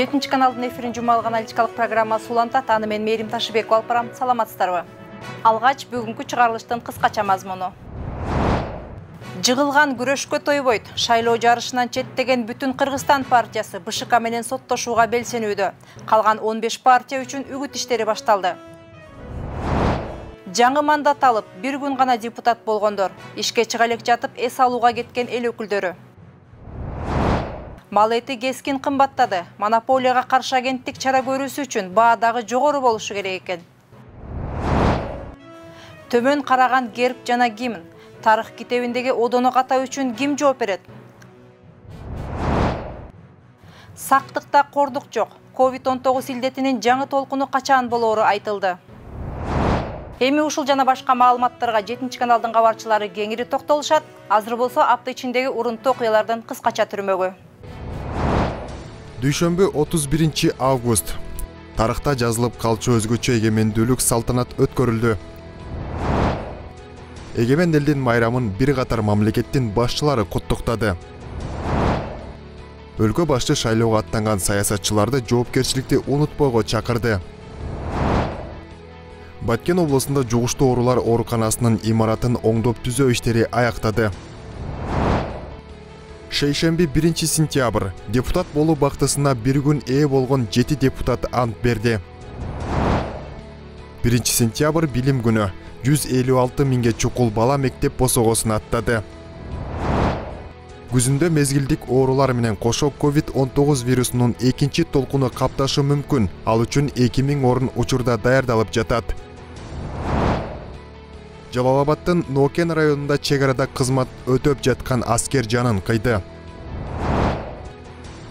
7 каналдын эфирин жумалык аналитикалык программасы улантат. Аны мен Мээрим Ташыбекова алып барам. Саламатсыздарбы? Алгач бүгүнкү чыгарылыштын кыскача мазмуну. Жыгылган күрөшкө тойбойт. Шайлоо жарышынан четтеген бүтүн Кыргызстан партиясы БШК менен соттошууга белсенүүдө. Калган 15 партия үчүн үгүт иштери башталды. Жаңы мандат алып, бир күн гана депутат болгондор. Ишке чыга элек жатып эс алууга кеткен эл өкүлдөрү. Мал эти кескин кымбаттады. Монополияга каршы агенттик чара көрүүсү үчүн баа дагы жогору болушу керек экен. Төмөн караган герб жана гимн. Тарых китебиндеги одону катуу үчүн ким жооп берет? Сактыкта кордук жок. COVID-19 илдетинин жаңы толкуну качан болоору айтылды. Эми ушул жана башка маалыматтарга 7 каналдын кабарчылары кеңири токтолушат. Азыр болсо апта ичиндеги урунттуу окуялардан кыскача түрмөгү. Дүйшөмбү 31 август. Тарыхта жазылып калчу өзгөчө эгемендүүлүк салтанат өткөрүлдү. Эгемен элдин майрамын бир катар мамлекеттин башчылары куттуктады. Өлкө башчы шайлоого аттанган саясатчыларды жоопкерчиликти унутпойго чакырды. Баткен облусунда жугуштуу оорулар ооруканасынын имаратын оңдоп түзөө иштери аяктады. Шейшемби 1 сентябрь депутат болуу бактысына бир күн ээ болгон 7 депутат ант берди. 1 сентябрь билим күнү 156 миңге чукул бала мектеп босогосун аттады. Күзүндө мезгилдик оорулар менен кошо COVID-19 вирусунун экинчи толкуну капташы мүмкүн. Ал үчүн 2000 орун учурда даярдалып жатат. Жалал-Абадтын Нокен районунда чек арада кызмат өтөп жаткан аскер жанын кыйды.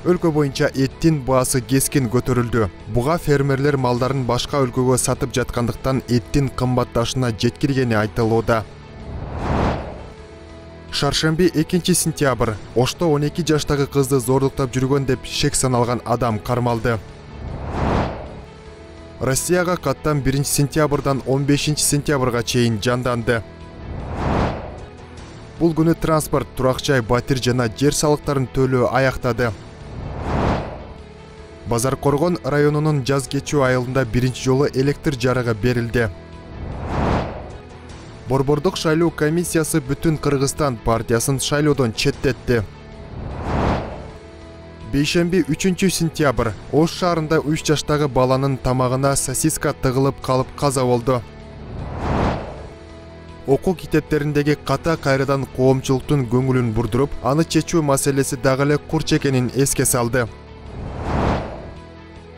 Өлкө боюнча эттин баасы кескин көтөрүлдү. Буга фермерлер малдарын башка өлкөгө сатып жаткандыктан эттин кымбатташына жеткиргени айтылууда. Шаршемби 2 сентябрь Ошто 12 жаштагы кызды зордуктап жүргөн деп шек саналган адам кармалды. Россияга каттам 1 сентябрдан 15 сентябрга чейин жанданды. Бул күнү транспорт, турак-жай, батир жана жер салыктарын төлөө аяктады. Базар Коргон районунун жаз кечүү айылында биринчи жолу электр жарыгы берилди. Борбордук шайлоо комиссиясы бүтүн Кыргызстан партиясын шайлоодон четтетти. Бейшемби 3 сентябрь Ош шаарында 3 жаштагы баланын тамагына сосиска тыгылып калып каза болду. Окуу китептериндеги ката кайрадан коомчулуктун көңүлүн бурдуруп, аны чечүү маселеси дагы эле курч экенин эске салды.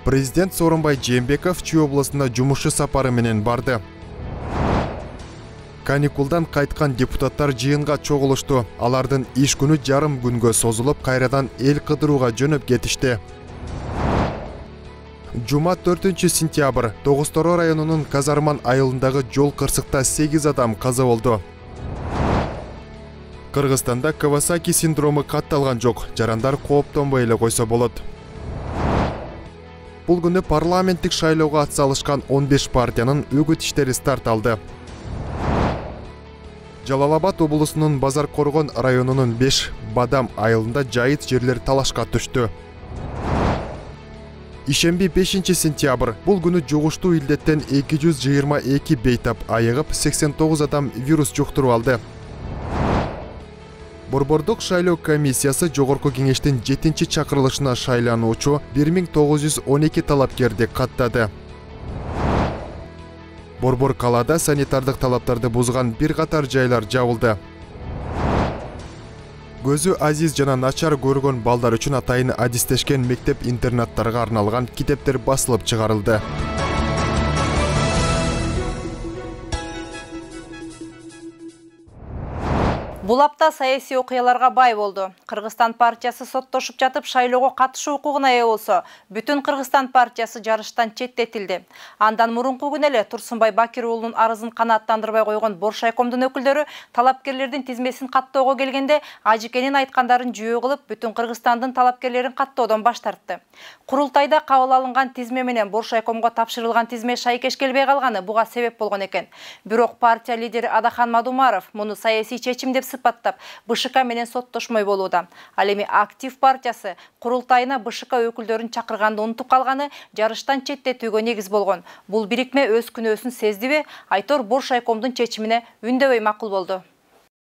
Президент Сооронбай Жээнбеков Чүй областына жумуш сапары менен барды. Каникулдан кайткан депутаттар жыйынга чогулушту. Алардын иш күнү жарым күнгө созулуп, кайрадан эл кыдырууга жөнөп кетишти. Жума 4 сентябрь Тогуз-Тороо районунун Казарман айылындагы жол кырсыкта 8 адам каза болду. Кыргызстанда Кавасаки синдрому катталган жок. Жарандар кооптонбой эле койсо болот. Бул күнү парламенттик шайлоого атсалышкан 15 партиянын үгүт иштери старт алды. Жалал-Абад облусунун Базар Коргон районунун 5 Бадам айылында жайыт жерлер талашка түштү. Ишемби 5 сентябрь бул күнү жугуштуу илдеттен 222 бейтап айыгып, 89 адам вирус жуктуруп алды. Борбордук шайлоо комиссиясы жогорку кеңештин 7 чакырылышына шайлануучу 1912 талапкерди каттады. Борбор калаада санитардык талаптарды бузган бир катар жайлар жабылды. Көзү азиз жана начар көргөн балдар үчүн атайын адистешкен мектеп-интернаттарга арналган китептер басылып чыгарылды. Бул апта саясий окуяларга бай болду. Кыргызстан партиясы соттошуп жатып шайлоого катышуу укугуна ээ болсо, бүтүн Кыргызстан партиясы жарыштан четтетилди. Андан мурунку күнү эле Турсунбай Бакир уулунун арызын канааттандырбай койгон Боршайкомдун өкүлдөрү талапкерлердин тизмесин каттоого келгенде Ажикенин айткандарын жүйө кылып, бүтүн Кыргызстандын талапкерлерин каттоодон баш тартты. Курултайда кабыл алынган тизме менен Боршайкомго тапшырылган тизме шайкеш келбей калганы буга себеп болгон экен. Бирок партия лидери Адахан Мадумаров муну саясий чечим деп сыпаттап, БШК менен соттошмой болууда. Ал эми Актив партиясы курултайына БШК өкүлдөрүн чакырганды унутуп калганы жарыштан четтетүүгө негиз болгон. Бул бирикме өз күнөөсүн сездиби? Айтор Боршайкомдун чечимине үндөбөй макул болду.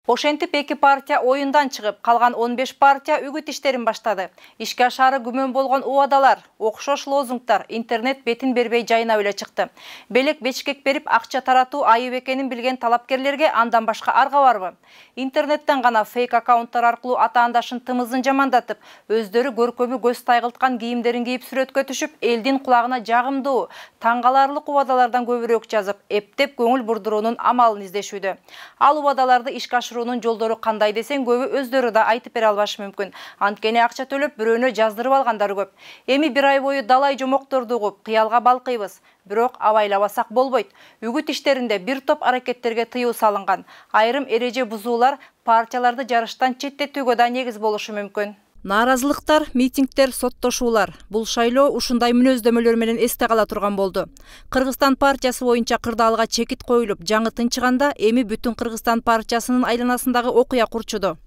Ошентип эки партия оюндан чыгып, калган 15 партия үгүт иштерин баштады. Ишке ашаары күмөн болгон убадалар, окшош лозунгдар интернет бетин бербей жайына эле чыкты. Белек бечкек берип акча таратуу айып экенин билген талапкерлерге андан башка арга барбы? Интернеттен гана фейк аккаунттар аркылуу атаандашын тымызын жамандатып, өздөрү көркөмү көз тайгылткан кийимдерин кийип сүрөткө түшүп, элдин кулагына жагымдуу, таң каларлык убадалардан көбүрөөк жазып, эптеп көңүл бурдуруунун амалын издешүүдө. Ал убадаларды ишке ашыруунун жолдору кандай десең көбү өздөрү да айтып бере албашы мүмкүн. Анткени акча төлөп бирөөнө жаздырып алгандары көп. Эми бир ай бою далай жомокторду угуп, кыялга балкыйбыз. Бирок абайлабасак болбойт. Үгүт иштеринде бир топ аракеттерге тыюу салынган. Айрым эреже бузуулар партияларды жарыштан четтетүүгө да негиз болушу мүмкүн. Нааразылыктар, митингдер, соттошуулар. Бул шайлоо ушундай мүнөздөмөлөр менен эсте кала турган болду. Кыргызстан партиясы боюнча кырдаалга чекит коюлуп, жаңы тынчыганда эми бүтүн Кыргызстан партиясынын айланасындагы окуя курчуду.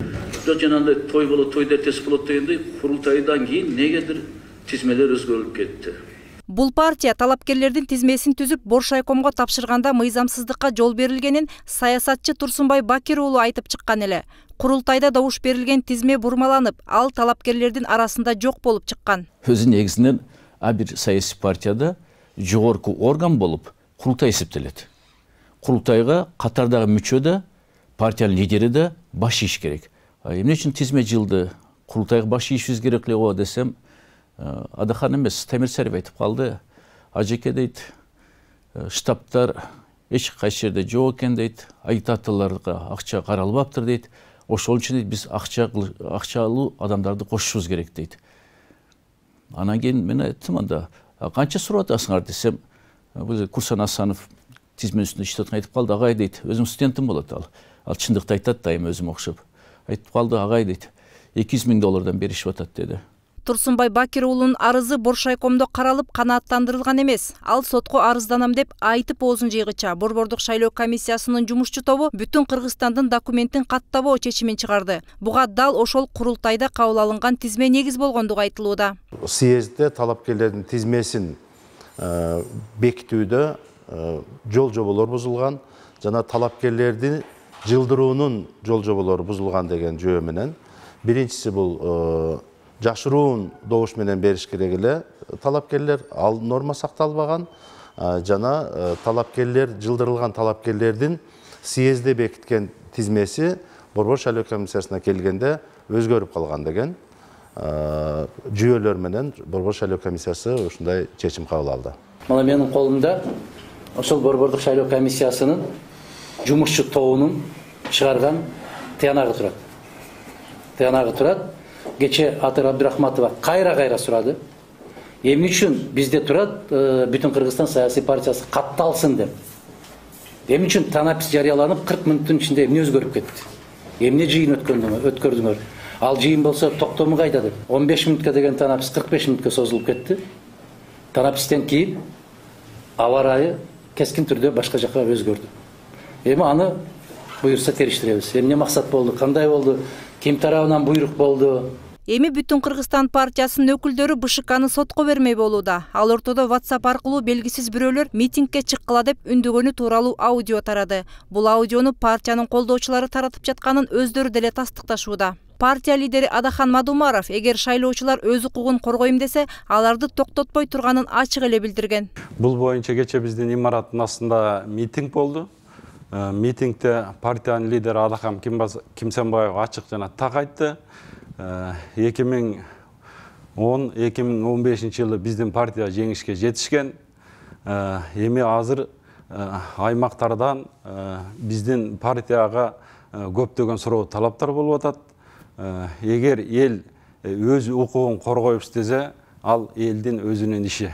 Жанагындай той болот, той дертес болот дегендей, курултайдан кийин негедир тизмелер өзгөрүп кетти. Бул партия талапкерлердин тизмесин түзүп Боршайкомго тапшырганда мыйзамсыздыкка жол берилгенин саясатчы Турсунбай Бакир уулу айтып чыккан эле. Курултайда добуш берилген тизме бурмаланып, ал талапкерлердин арасында жок болуп чыккан. Өзү негизинен бир саясий партияда жогорку орган болуп курултай эсептелет. Курултайга катардагы мүчө да, партиянын лидери да баш ийиш керек. Эмне үчүн тизме жылды? Курултайга баш ийишибиз керек эле го десем, Адахан эмес, Темирсарев айтып калды. Ажеке дейт, штабтар эч кайсы жерде жок экен дейт, агитаторлорго акча каралбаптыр дейт. Ошол үчүн дейт биз акчалуу адамдарды кошушубуз керек дейт. Анан кийин мен айттым, анда канча сурап атасыңар десем, бул Курсан Асанов тизме үстүндө иштеп аткан айтып калды, агай дейт, өзүм студентим болот ал. Ал чындыкты айтат дайым өзүм окшоп. Айтып калды, агай дейт, $200,000 беришип атат деди. Турсунбай Бакир уулунун арызы Боршайкомдо каралып канааттандырылган эмес. Ал сотко арызданам деп айтып оозун жыйгыча Борбордук шайлоо комиссиясынын жумушчу тобу бүтүн Кыргызстандын документин каттабоо чечимин чыгарды. Буга дал ошол курултайда кабыл алынган тизме негиз болгондугу айтылууда. Съездде талапкерлердин тизмесин бекитүүдө жол жоболор бузулган, жана талапкерлерди жылдыруунун жол жоболору бузулган деген жөө менен. Биринчиси бул жашыруун добуш менен бериш керек эле талапкерлер, ал норма сакталбаган, жана талапкерлер, жылдырылган талапкерлердин съездде бекиткен тизмеси Борбор шайлоо комиссиясына келгенде өзгөрүп калган деген жүйөлөр менен Борбор шайлоо комиссиясы ушундай чечим кабыл алды. Мына менин колумда ошол Борбордук шайлоо комиссиясынын жумушчу тобунун чыгарган тыянагы турат. Тыянагы турат. Кече Атыр Абдурахматова кайра сурады. Эмне үчүн бизде турат бүтүн Кыргызстан саясий партиясы катталсын деп. Эмне үчүн танапис жарыяланып 40 мүнөттүн ичинде эмне өзгөрүп кетти? Эмне жыйын өткөрдүңөр? Ал жыйын болсо токтому кайда деп. 15 мүнөткө деген танапис 45 мүнөткө созулуп кетти. Танапистен кийин аба ырайы кескин түрдө башка жакка өзгөрдү. Эми аны буйрса териштиребиз. Эмне максат болду? Кандай болду? Ким тарабынан буйрук болду? Эми бүтүн Кыргызстан партиясынын өкүлдөрү БШКны сотко бермей болууда. Ал ортодо WhatsApp аркылуу белгисиз бирөөлөр митингге чыккыла деп үндөгөнү тууралуу аудио тарады. Бул аудиону партиянын колдоочулары таратып жатканын өздөрү деле тастыкташууда. Партия лидери Адахан Мадумаров эгер шайлоочулар өз укугун коргойм десе, аларды токтотпой турганын ачык эле билдирген. Бул боюнча кече биздин имараттын астында митинг болду. Митингде партиянын лидери Адахан Кимсенбаев ачык жана так айтты. 2010-2015 жылы биздин партия жеңишке жетишкен. Эми азыр аймактардан биздин партияга көптөгөн суроо талаптар болуп атат. Эгер эл өз укугун коргоюп иштесе, ал элдин өзүнүн иши.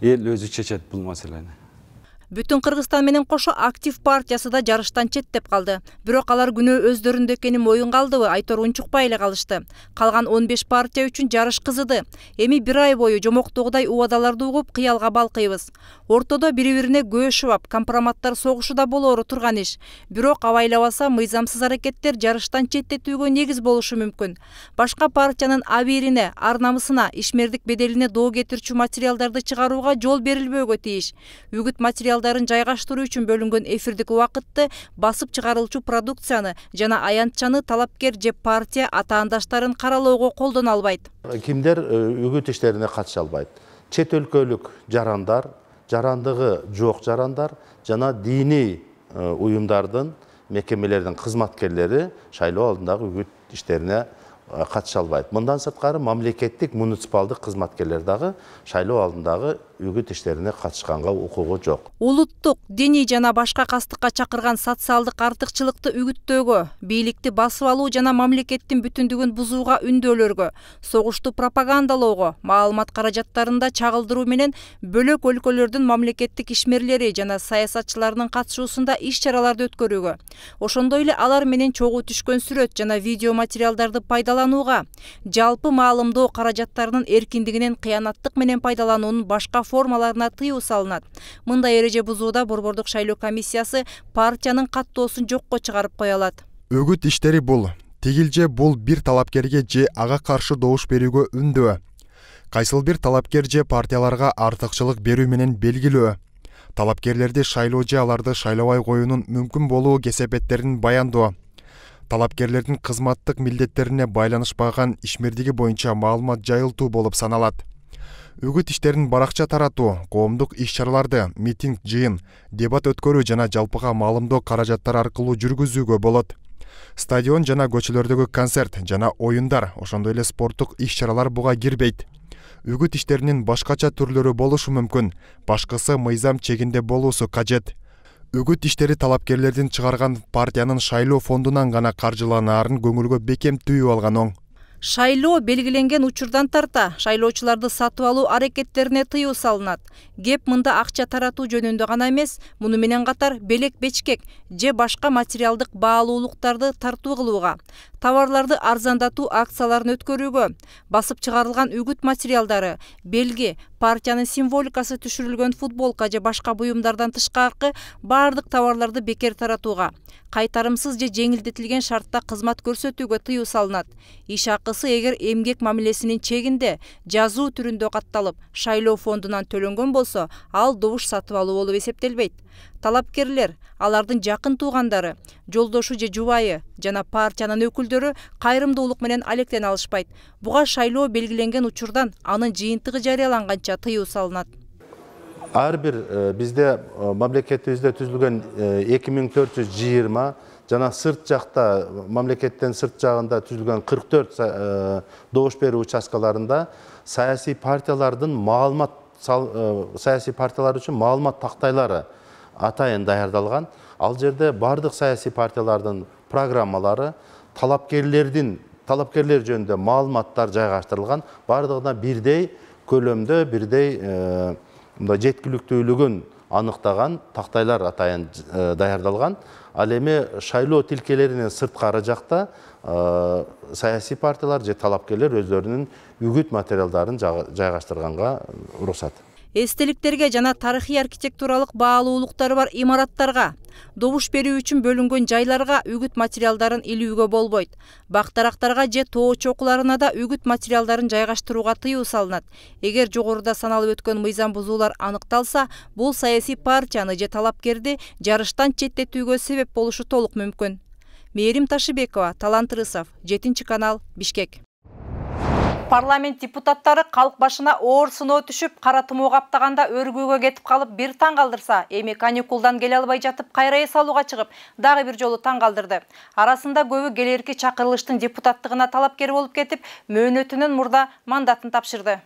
Эл өзү чечет бул маселени. Бүтүн Кыргызстан менен кошо Актив партиясы да жарыштан четтеп калды. Бирок алар күнөө өздөрүндө экени моюнга алдыбы, айтор унчукпай эле калышты. Калган 15 партия үчүн жарыш кызыды. Эми бир ай бою жомоктогудай убадаларды угуп кыялга балкыйбыз. Ортодо бири-бирине көз шубап, компроматтар согушуда болоору турган иш. Бирок абайлабаса мыйзамсыз аракеттер жарыштан четтетүүгө негиз болушу мүмкүн. Башка партиянын абийирине, ар намысына, ишмердик беделине доо кетирчү материалдарды чыгарууга жол берилбөөгө тийиш. Үгүт материалдарын жайгаштыруу үчүн бөлүнгөн эфирдик убакытты, басып чыгарылчу продукцияны жана аянтчаны талапкер же партия атаандаштарын каралоого колдоно албайт. Кимдер үгүт иштерине катыша албайт? Чет өлкөлүк жарандар, жарандыгы жок жарандар жана диний уюмдардын, мекемелердин кызматкерлери шайлоо алдындагы үгүт иштерине катыша албайт. Мындан сырткары мамлекеттик муниципалдык кызматкерлер дагы шайлоо алдындагы үгүт иштерине катышканга укугу жок. Улуттук, диний жана башка кастыкка чакырган социалдык артыкчылыкты үгүттөөгө, бийликти басып алуу жана мамлекеттин бүтүндүгүн бузууга үндөөлөргө, согушту пропагандалоого, маалымат каражаттарында чагылдыруу менен бөлөк өлкөлөрдүн мамлекеттик ишмерлери жана саясатчыларынын катышуусунда иш-чараларды өткөрүүгө, ошондой эле алар менен чогуу түшкөн сүрөт жана видео материалдарды пайдаланууга, жалпы маалымдоо каражаттарынын эркиндигинен кыянаттык менен пайдалануунун башка формаларына тыюу салынат. Мындай эреже бузууда Борбордук шайлоо комиссиясы партиянын каттоосун жокко чыгарып кое алат. Үгүт иштери бул тигилже бул бир талапкерге же ага каршы добуш берүүгө үндөө. Кайсыл бир талапкер же партияларга артыкчылык берүү менен белгилөө. Талапкерлерди шайлоо же аларды шайлабай коюунун мүмкүн болуу кесепеттерин баяндоо. Талапкерлердин кызматтык милдеттерине байланышпаган ишмердиги боюнча маалымат жайылтуу болуп саналат. Үгүт иштерин баракча таратуу, коомдук иш-чараларды, митинг, жыйын, дебат өткөрүү жана жалпыга маалымдоо каражаттары аркылуу жүргүзүүгө болот. Стадион жана көчөлөрдөгү концерт жана оюндар, ошондой эле спорттук иш-чаралар буга кирбейт. Үгүт иштеринин башкача түрлөрү болушу мүмкүн, башкысы мыйзам чегинде болуусу кажет. Үгүт иштери талапкерлердин чыгарган партиянын шайлоо фондунан гана каржыланаарын көңүлгө бекем түйүп алган оң. Шайлоо белгиленген учурдан тарта шайлоочуларды сатып алуу аракеттерине тыюу салынат. Кеп мында акча таратуу жөнүндө гана эмес, муну менен катар белек бечкек же башка материалдык баалуулуктарды тартуу кылууга, товарларды арзандатуу акцияларын өткөрүүгө, басып чыгарылган үгүт материалдары, белги, партиянын символикасы түшүрүлгөн футболка же башка буюмдардан тышкаркы бардык товарларды бекер таратууга, кайтарымсыз же жеңилдетилген шартта кызмат көрсөтүүгө тыюу салынат. Иш акысы эгер эмгек мамилесинин чегинде жазуу түрүндө катталып, шайлоо фондунан төлөнгөн болсо, ал добуш сатып алуу болуп эсептелбейт. Талапкерлер, алардын жакын туугандары, жолдошу же жубайы жана партиянын өкүлдөрү кайрымдуулук менен алектене алышпайт. Буга шайлоо белгиленген учурдан анын жыйынтыгы жарыяланганча тыюу салынат. Ар бир бизде мамлекетибизде түзүлгөн 2420 жана сырт жакта мамлекеттен сырт жагында түзүлгөн 44 добуш берүү участкаларында саясий партиялардын саясий партиялар үчүн маалымат тактайлары атайын даярдалган. Ал жерде бардык саясий партиялардын программалары, талапкерлер жөнүндө маалыматтар жайгаштырылган, бардыгына бирдей көлөмдө, бирдей жеткиликтүүлүгүн аныктаган тактайлар атайын даярдалган. Ал эми шайлоо тилкелеринен сырткары жакта саясий партиялар же талапкерлер өздөрүнүн үгүт материалдарын жайгаштырганга уруксат. Эстеликтерге жана тарыхый архитектуралык баалуулуктары бар имараттарга, добуш берүү үчүн бөлүнгөн жайларга үгүт материалдарын илүүгө болбойт. Бактарактарга же тоо чокуларына да үгүт материалдарын жайгаштырууга тыюу салынат. Эгер жогоруда саналып өткөн мыйзам бузуулар аныкталса, бул саясий партияны же талапкерди жарыштан четтетүүгө себеп болушу толук мүмкүн. Мээрим Ташыбекова, Талант Рысов, 7-канал, Бишкек. Парламент депутаттары калк башына оор сыноо түшүп, кара тумоо каптаганда өргүүгө кетип калып бир таң калдырса, эми каникулдан келе албай жатып кайра эс алууга чыгып, дагы бир жолу таң калдырды. Арасында көбү келерки чакырылыштын депутаттыгына талапкер болуп кетип, мөөнөтүнөн мурда мандатын тапшырды.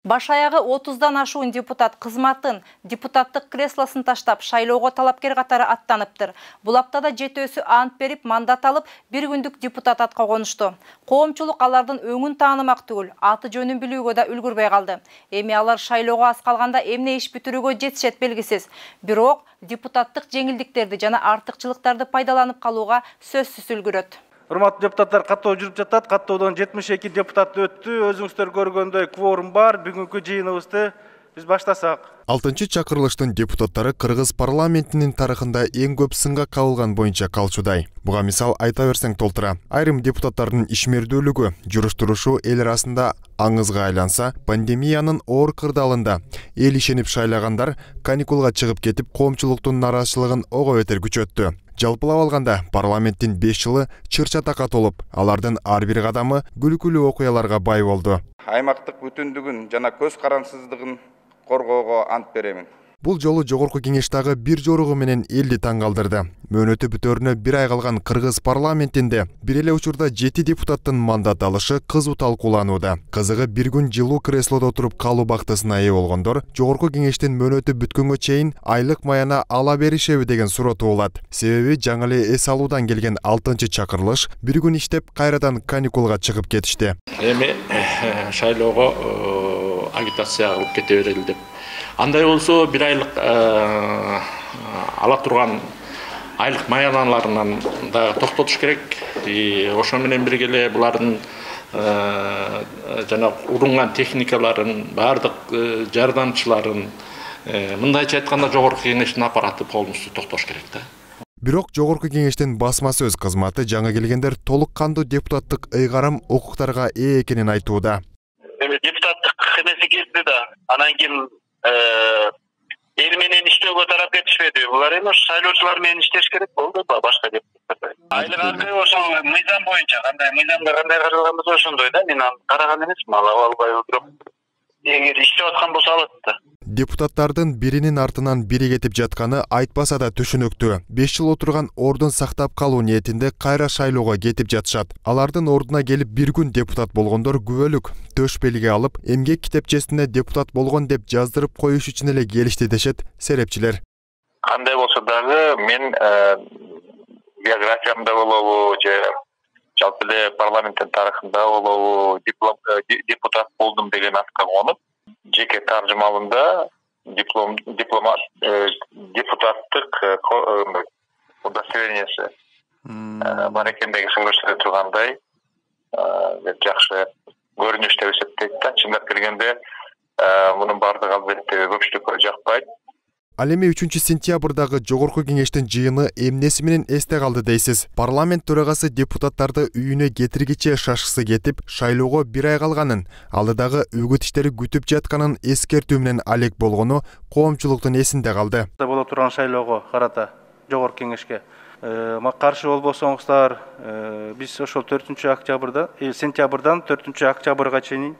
Баш аягы 30-дан ашуун депутат кызматын, депутаттык креслосын таштап, шайлоого талапкер катары аттаныптыр. Бул аптада 7-өсү ант берип, мандат алып, 1 күндүк депутат атка конушту. Коомчулук алардын өңүн таанымак түгүл, аты жөнүн билүүгө да үлгүрбөй калды. Эми алар шайлоого аз калганда эмне иш бүтүрүүгө жетишет белгисиз. Бирок депутаттык жеңилдиктерди жана артыкчылыктарды пайдаланып калууга сөзсүз үлгүрөт. Урматтуу депутаттар, каттоо жүрүп жатат. Каттоодон 72 депутат өттү. Өзүңүздөр көргөндөй кворум бар. Бүгүнкү жыйыныбызды биз баштасак. 6-чакырылыштын депутаттары Кыргыз парламентинин тарыхында эң көп сынга кабылган боюнча калчудай. Буга мисал айта берсең толтура. Айрым депутаттардын ишмердүүлүгү, жүрүш-турушу эл арасында аңызга айланса, пандемиянын оор кырдаалында эл ишенип шайлагандар каникулга чыгып кетип, коомчулуктун нараазычылыгын ого бетер күчөттү. Жалпылап алганда парламенттин 5 жылы чыр-чатакка толуп, алардын ар бир кадамы күлкүлүү окуяларга бай болду. Аймактык бүтүндүгүн жана көз карандысыздыгын коргоого ант беремин. Бул жолу жогорку кеңештагы бир жоругу менен элди таң калтырды. Мөөнөтү бүтөрүнө 1 ай калган Кыргыз парламентинде бир эле учурда 7 депутаттын мандат алышы кызуу талкууланууда. Кызыгы бир күн жылуу креслодо отуруп калуу бактысына ээ болгондор жогорку кеңештин мөөнөтү бүткөнгө чейин айлык маяна ала беришеби деген суроо туулат. Себеби жаңы эле эс алуудан келген 6-чакырылыш бир күн иштеп кайрадан каникулга чыгып кетишти. Эми шайлоого агитация кылып кете берели деп. Андай болсо бир айлык ала турган айлык маяналарынан да токтотуш керек. Ошо менен бирге эле булардын жана урунган техникаларын, бардык жардамчыларын, мындайча айтканда жогорку кеңештин аппараты полностью токтош керек да. Бирок жогорку кеңештин басма сөз кызматы жаңы келгендер толук кандуу депутаттык ыйгарым укуктарга ээ экенин айтууда. Депутаттык кызмети кирди да, анан кийин эл менен иштөөгө тарап кетишпеди. Булар эми шайлоочулар менен иштеш керек болду, башка депутаттар. Айлык акы ошол мыйзам боюнча, кандай мыйзамда кандай каралган болсо ошондой да. Мен аны караган эмесмин, ала албай отуруп. Эгер иштеп аткан болсо алат да. Депутаттардын биринин артынан бири кетип жатканы айтпаса да түшүнүктүү. 5 жыл отурган ордун сактап калуу ниетинде кайра шайлоого кетип жатышат. Алардын ордуна келип бир күн депутат болгондор күбөлүк төш белги алып, эмгек китепчесине депутат болгон деп жаздырып коюш үчүн эле келишти дешет серепчилер. Кандай болсо дагы мен биографиямда болобу же жалпы эле парламенттин тарыхында болобу депутат болдум деген атка конуп, жеке таржымалында депутаттык удостоверениясы бар экендиги көрсөтө тургандай жакшы көрүнүш деп эсептейт да. Чындап келгенде мунун баардыгы албетте көпчүлүккө жакпайт. Ал эми 3-сентябрдагы жогорку кеңештин жыйыны эмнеси менен эсте калды дейсиз? Парламент төрагасы депутаттарды үйүнө кетиргиче шашкысы кетип, шайлоого 1 ай калганын, алдыдагы үгүт иштери күтүп жатканын эскертүү менен алек болгону коомчулуктун эсинде калды. Боло турган шайлоого карата жогорку кеңешке каршы болбосоңуздар, биз ошол 4-октябрда, сентябрдан 4-октябрга чейин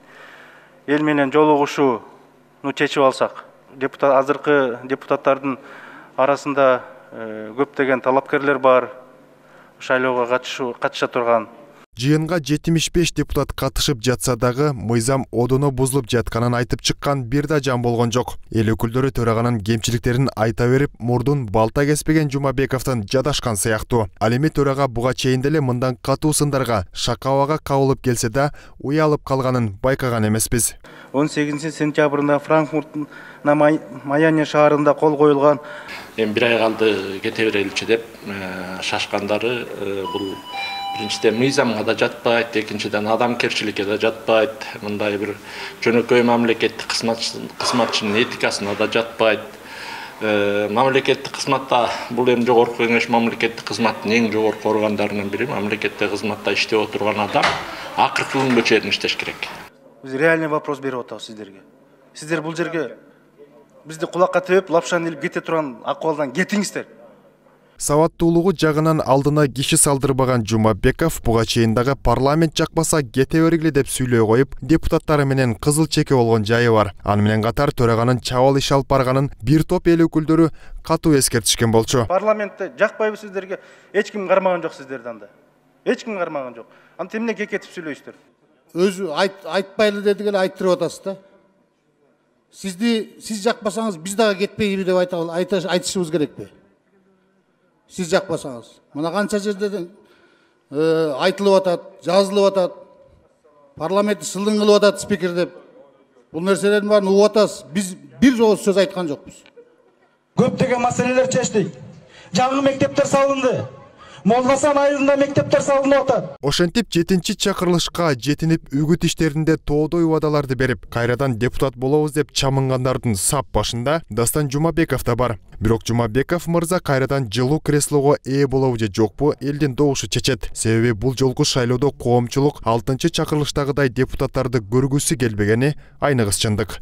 эл менен жолугушууну чечип алсак, азыркы депутаттардын арасында көптөгөн талапкерлер бар, шайлоого катыша турган. Жыйынга 75 депутат катышып жатса дагы мыйзам одоно бузулуп жатканын айтып чыккан бир да жан болгон жок. Эл өкүлдөрү төраганын кемчиликтерин айта берип, мурдун балта кеспеген Жумабековдон жадашкан сыяктуу. Ал эми төрага буга чейин деле мындан катуу сындарга, шакабага кабылып келсе да, уялып калганын байкаган эмеспиз. 18 сентябрында Франкфурттун Майами шаарында кол коюлган. Эми 1 ай калды кете береличи деп шашкандары бул биринчиден мыйзамга да жатпайт, экинчиден адамкерчиликке да жатпайт, мындай бир жөнөкөй мамлекеттик кызматчынын этикасына да жатпайт. Мамлекеттик кызматта бул эми жогорку кеңеш мамлекеттик кызматтын эң жогорку органдарынын бири. Мамлекеттик кызматта иштеп отурган адам акыркы күнгө чейин иштеш керек. Биз реальный вопрос берип атабыз сиздерге. Сиздер бул жерге бизди кулакка тебип, лапшаны илип кете турган акыбалдан кетиңиздер. Сабаттуулугу жагынан алдына киши салдырбаган Жумабеков буга чейин дагы парламент жакпаса кете бергиле деп сүйлөй коюп, депутаттары менен кызыл чеке болгон жайы бар. Аны менен катар төраганын чабал иш алып барганын бир топ эл өкүлдөрү катуу эскертишкен болчу. Парламентте жакпайбы сиздерге? Эч ким кармаган жок сиздерди анда. Эч ким кармаган жок. Аны эмне кекетип сүйлөйсүздөр? Өзү айтпайлы дедик эле айттырып атасыз да. Сиз жакпасаңыз биз дагы кетпейбиз деп айтышыбыз керекпи? Сиз жакпасаңыз. Мына канча жерден айтылып атат, жазылып атат. Парламентти сылдың кылып атат спикер деп. Бул нерселердин баарын угуп атасыз. Биз бир жолу сөз айткан жокпуз. Көптөгөн маселелер чечтик. Жаңы мектептер салынды. Молдасан айылында мектептер салынып атат. Ошентип 7-чи чакырылышка жетинип үгүт иштеринде тоодой убадаларды берип, кайрадан депутат болобуз деп чамынгандардын сап башында Дастан Жумабеков да бар. Бирок Жумабеков мырза кайрадан жылуу креслого ээ болобу же жокпу элдин добушу чечет. Себеби бул жолку шайлоодо коомчулук 6-чы чакырылыштагыдай депутаттарды көргүсү келбегени айныгыс чындык.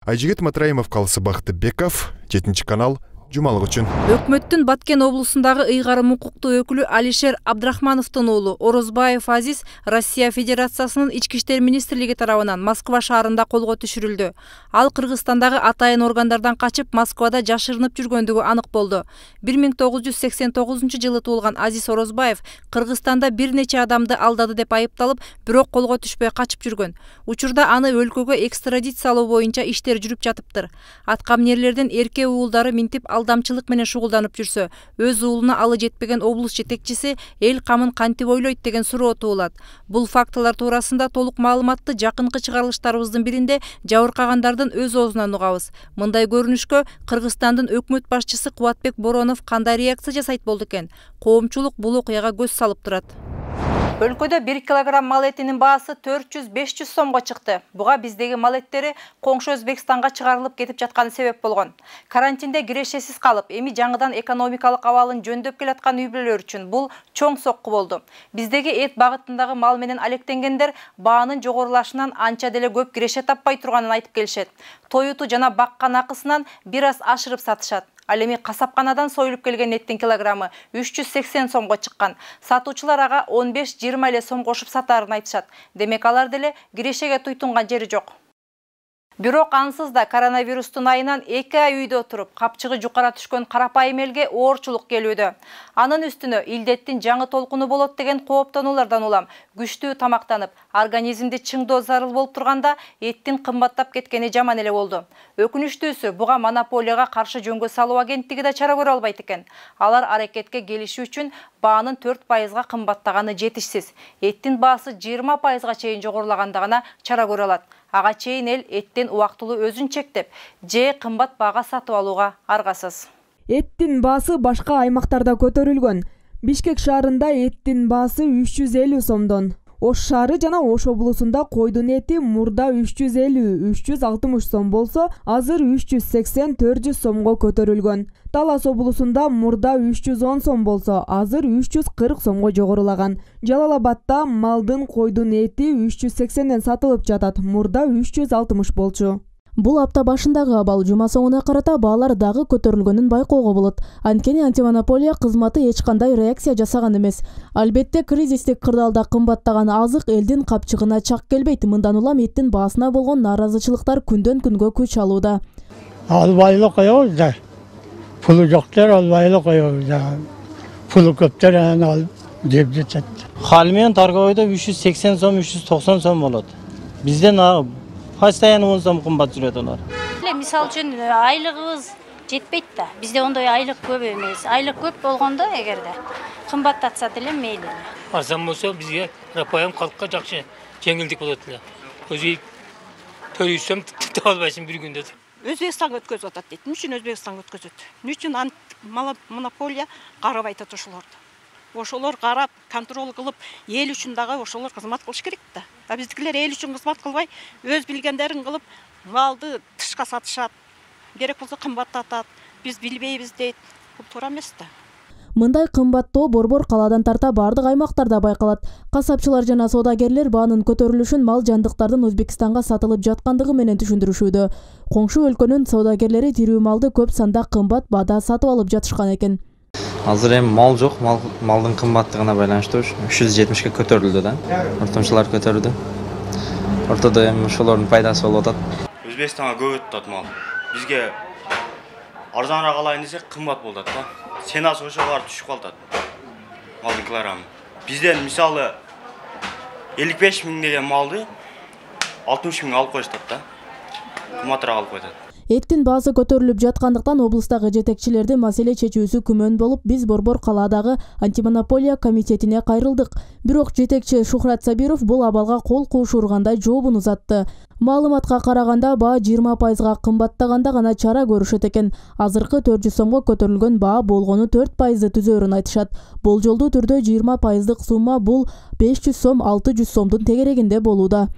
Айжигит Матраимов, Калысы Бактыбеков, 7-чи канал, жумалык үчүн. Өкмөттүн Баткен облусундагы ыйгарым укуктуу өкүлү Алишер Абдрахмановдун уулу Орозбаев Азиз Россия Федерациясынын Ички иштер министрлиги тарабынан Москва шаарында колго түшүрүлдү. Ал Кыргызстандагы атайын органдардан качып, Москвада жашырынып жүргөндүгү анык болду. 1989 жылы туулган Азиз Орозбаев Кыргызстанда бир нече адамды алдады деп айыпталып, бирок колго түшпөй качып жүргөн. Учурда аны өлкөгө экстрадициялоо боюнча иштер жүрүп жатыптыр. Аткаминерлердин эрке уулдары минтип алдамчылык менен шугулданып жүрсө, өз уулуна алы жетпеген облус жетекчиси эл камын кантип ойлойт деген суроо туулат. Бул фактылар туурасында толук маалыматты жакынкы чыгарылыштарыбыздын биринде жабыркагандардын өз оозунан угабыз. Мындай көрүнүшкө Кыргызстандын өкмөт башчысы Кубатбек Боронов кандай реакция жасайт болду экен? Коомчулук бул окуяга көз салып турат. Өлкөдө 1 килограмм мал этинин баасы 400-500 сомго чыкты. Буга биздеги мал эттери коңшу Өзбекстанга чыгарылып кетип жатканы себеп болгон. Карантинде кирешесиз калып, эми жаңыдан экономикалык абалын жөндөп келаткан үй-бүлөлөр үчүн бул чоң сокку болду. Биздеги эт багытындагы мал менен алектенгендер баанын жогорулашынан анча деле көп киреше таппай турганын айтып келишет. Той уту жана баккан акысынан бир аз ашырып сатышат. Ал эми касапканадан союлуп келген эттин килограммы 380 сомго чыккан. Сатуучулар ага 15-20 эле сом кошуп сатаарын айтышат. Демек алар деле кирешеге туйтунган жери жок. Бирок ансыз да коронавирустун айынан 2 ай үйдө отуруп, капчыгы жукара түшкөн карапайым элге оорчулук келүүдө. Анын үстүнө илдеттин жаңы толкуну болот деген кооптонуулардан улам күчтүү тамактанып, организмди чыңдоо зарыл болуп турганда эттин кымбаттап кеткени жаман эле болду. Өкүнүчтүүсү, буга монополияга каршы жөнгө салуу агенттиги да чара көрө албайт экен. Алар аракетке келишүү үчүн баанын 4%га кымбаттаганы жетишсиз. Эттин баасы 20%га чейин жогорулаганда гана чара көрө алат. Ага чейин эл эттен убактылуу өзүн чектеп, же кымбат баага сатып алууга аргасыз. Эттин баасы башка аймактарда көтөрүлгөн. Бишкек шаарында эттин баасы 350 сомдон. Ош шаары жана Ош облусунда койдун эти мурда 350-360 сом болсо, азыр 380-400 сомго көтөрүлгөн. Талас облусунда мурда 310 сом болсо, азыр 340 сомго жогорулаган. Жалал Абадда малдын койдун эти 380ден сатылып жатат, мурда 360 болчу. Бул апта башындагы абал жума соңуна карата баалар дагы көтөрүлгөнүн байкоого болот. Анткени антимонополия кызматы эч кандай реакция жасаган эмес. Албетте, кризистик кырдаалда кымбаттаган азык элдин капчыгына чак келбейт. Мындан улам эттин баасына болгон нааразычылыктар күндөн күнгө күч алууда. Албайлы коебуз да. Пулу жоктор албайлы коебуз да. Пулу көптөр алып жеп жатат. Хал менен торговойдо 380 сом, 390 сом болот. Бизден постоянно 10 сом кымбат жүрөт алар. Мисалы үчүн айлыгыбыз жетпейт да. Бизде ондой айлык көп эмес. Айлык көп болгондо эгерде кымбаттатса деле мейли. Арзан болсо бизге рапайым калкка жакшы жеңилдик болот эле. Өзү төлөйсөм тете албайсың бир күндө. Өзбекстанга өткөзүп атат дейт. Эмне үчүн Өзбекстанга өткөзөт? Эмне үчүн монополия карабай атат ошолорду? Ошолор карап, контроль кылып, эл үчүн дагы ошолор кызмат кылыш керек да. А биздикилер эл үчүн кызмат кылбай, өз билгендерин кылып, малды тышка сатышат. Керек болсо кымбаттатат. Биз билбейбиз дейт. Бул туура эмес да. Мындай кымбаттоо борбор калаадан тарта бардык аймактарда байкалат. Касапчылар жана соодагерлер баанын көтөрүлүшүн мал жандыктардын Өзбекстанга сатылып жаткандыгы менен түшүндүрүшүүдө. Коңшу өлкөнүн соодагерлери тирүү малды көп санда кымбат баада сатып алып жатышкан экен. Азыр эми мал жок, малдын кымбаттыгына байланыштуу 370ке көтөрүлдү да. Ортомчулар көтөрдү. Ортодо эми ошолордун пайдасы болуп атат. Өзбекстанга көп өтүп атат мал. Бизге арзаныраак алайын десек кымбат болуп атат да. Ценасы ошого барып түшүп калат. Малдын килограммы. Бизден мисалы 55 000 деген малды 60 000 алып коюштат да. кымбатыраак алып кетет. Эттин баасы көтөрүлүп жаткандыктан облустагы жетекчилерди маселе чечүүсү күмөн болуп, биз Борбор калаадагы антимонополия комитетине кайрылдык. Бирок жетекчи Шухрат Сабиров бул абалга кол куушургандай жообун узатты. Маалыматка караганда баа 20%га кымбаттаганда гана чара көрүшөт экен. Азыркы 400 сомго көтөрүлгөн баа болгону 4% түзөөрүн айтышат. Болжолдуу түрдө 20%дык сумма бул 500 сом, 600 сомдун тегерегинде болууда.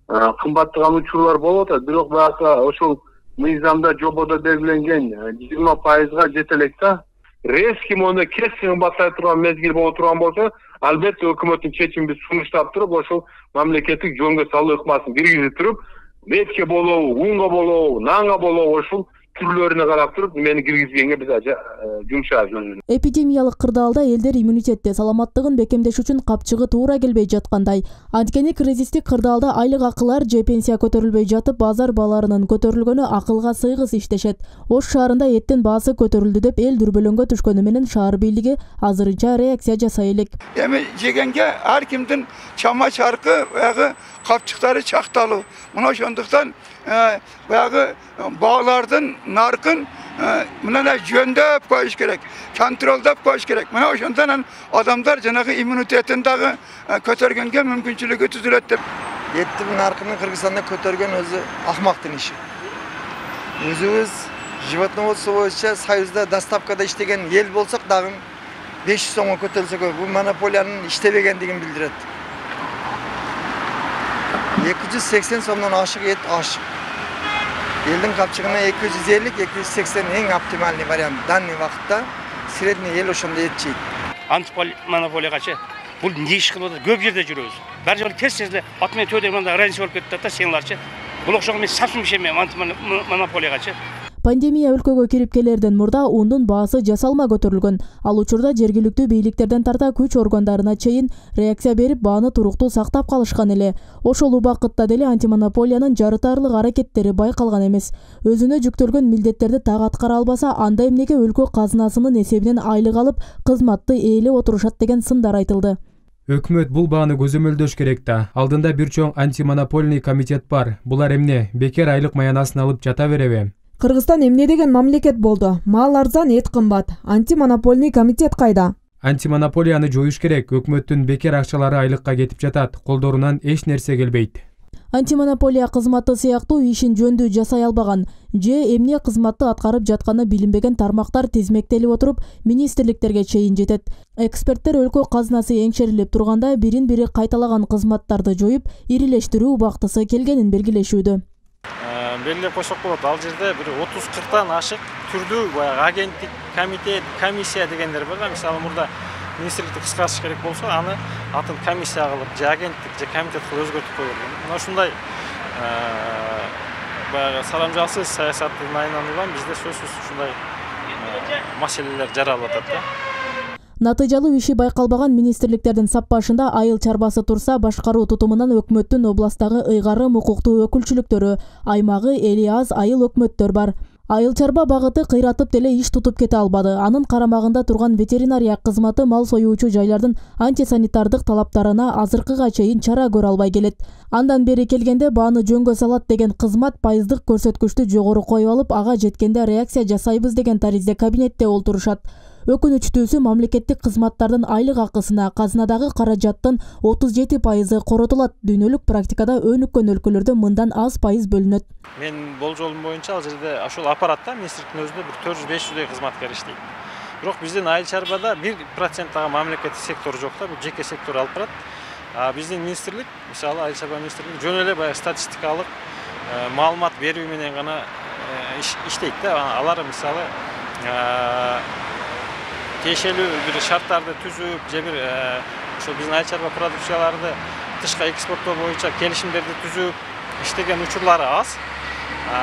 Кымбаттаган учурлар болуп атат, бирок баягы ошол мыйзамда жободо белгиленген 20%га жете элек да. Резкий монда кесин кымбаттай турган мезгил боло турган болсо, албетте өкмөттүн чечимин биз сунуштап туруп, ошол мамлекеттик жөнгө салуу ыкмасын киргизип туруп, метке болобу, унга болобу, нанга болобу ошол түрлөрүнө карап туруп мени киргизгенге биз жумшайбыз. Эпидемиялык кырдаалда элдер иммунитетти, саламаттыгын бекемдеш үчүн капчыгы туура келбей жаткандай. Анткени кризистик кырдаалда айлык акылар же пенсия көтөрүлбөй жатып, базар бааларынын көтөрүлгөнү акылга сыйгыс иштешет. Ош шаарында эттин баасы көтөрүлдү деп эл дүрбөлөңгө түшкөнү менен шаар бийлиги азырынча реакция жасай элек. Эми жегенге ар кимдин чама чаркы баягы капчыктары чакталуу. Мына ошондуктан баягы баалардын наркын мына жөндөп коюш керек, контролдоп коюш керек. Мына ошондон адамдар жанагы иммунитетин дагы көтөргөнгө мүмкүнчүлүгү түзүлөт деп. Эттин наркын Кыргызстанда көтөргөн өзү ахмактын иши. Өзүбүз животноводство боюнча союзда доставкада иштеген эл болсок дагы 500 сомго көтөрүлсө бул монополиянын иштебегендигин билдирет. 280 сомдон ашык эт ашык. Элдин капчыгына 250-280 эң оптимальный вариант. Данный вакытта средний эл ошондо эт жейт. Антимонополияга бул не иш кылып атат? Көп жерде жүрөбүз. Бир жолу тез ат менен төдө мында раньше болуп кетти да сеңларчы. Бул окшогон мен сапсын ишенбейм антимонополияга. Пандемия өлкөгө кирип келерден мурда ундун баасы жасалма көтөрүлгөн. Ал учурда жергиликтүү бийликтерден тарта күч органдарына чейин реакция берип бааны туруктуу сактап калышкан эле. Ошол убакытта деле антимонополиянын жарытарлык аракеттери байкалган эмес. Өзүнө жүктөлгөн милдеттерди так аткара албаса, анда эмнеге өлкө казынасынын эсебинен айлык алып, кызматты ээлеп отурушат деген сындар айтылды. Өкмөт бул бааны көзөмөлдөш керек да. Алдында бир чоң антимонопольный комитет бар. Булар эмне, бекер айлык маянасын алып жата береби? Кыргызстан эмне деген мамлекет болду? Мал арзан, эт кымбат. Антимонопольный комитет кайда? Антимонополияны жоюш керек. Өкмөттүн бекер акчалары айлыкка кетип жатат. Колдорунан эч нерсе келбейт. Антимонополия кызматы сыяктуу ишин жөндүү жасай албаган же эмне кызматты аткарып жатканы билинбеген тармактар тизмектелип отуруп, министрликтерге чейин жетет. Эксперттер өлкө казынасы эңшерилип турганда бирин-бири кайталаган кызматтарды жоюп, ирилештирүү убактысы келгенин белгилешүүдө. Белгилеп койсок болот. Ал жерде бир 30-40тан ашык түрдүү баягы агенттик, комитет, комиссия дегендер бар да. Мисалы мурда министрликти кыскартыш керек болсо, аны атын комиссия кылып, же агенттик, же комитет кылып өзгөртүп койгон. Мына ушундай баягы саламжалсыз саясаттын айлануган бизде сөзсүз ушундай маселелер жаралып атат да. Натыйжалуу иши байкалбаган министрликтердин саппашында айыл чарбасы турса, башкаруу тутумунан өкмөттүн областагы ыйгарым укуктуу өкүлчүлүктөрү, аймагы эли аз айыл өкмөттөр бар. Айыл чарба багыты кыйратып деле иш тутуп кете албады. Анын карамагында турган ветеринария кызматы мал союучу жайлардын антисанитардык талаптарына азыркыга чейин чара көрө албай келет. Андан бери келгенде бааны жөнгө салат деген кызмат пайыздык көрсөткүчтү жогору коюп алып, ага жеткенде реакция жасайбыз деген таризде кабинетте олтурушат. Өкүнүчтүүсү мамлекеттик кызматтардын айлык акысына казынадагы каражаттын 37% коротулат. Дүйнөлүк практикада өнүккөн өлкөлөрдө мындан аз пайыз бөлүнөт. Мен болжолум боюнча ал жерде ошол аппаратта министрликтин өзүндө бир 400-500 кызматкер иштейт. Бирок биздин айыл чарбада 1% дагы мамлекеттик сектор жок да, бул жеке сектор алып барат. Биздин министрлик, мисалы айыл чарба министрлиги жөн эле баягы статистикалык маалымат берүү менен гана иштейт да. Алар мисалы тиешелүү бир шарттарды түзүп, же бир ошо биздин айыл чарба продукцияларды тышка экспорттоо боюнча келишимдерди түзүп иштеген учурлары аз.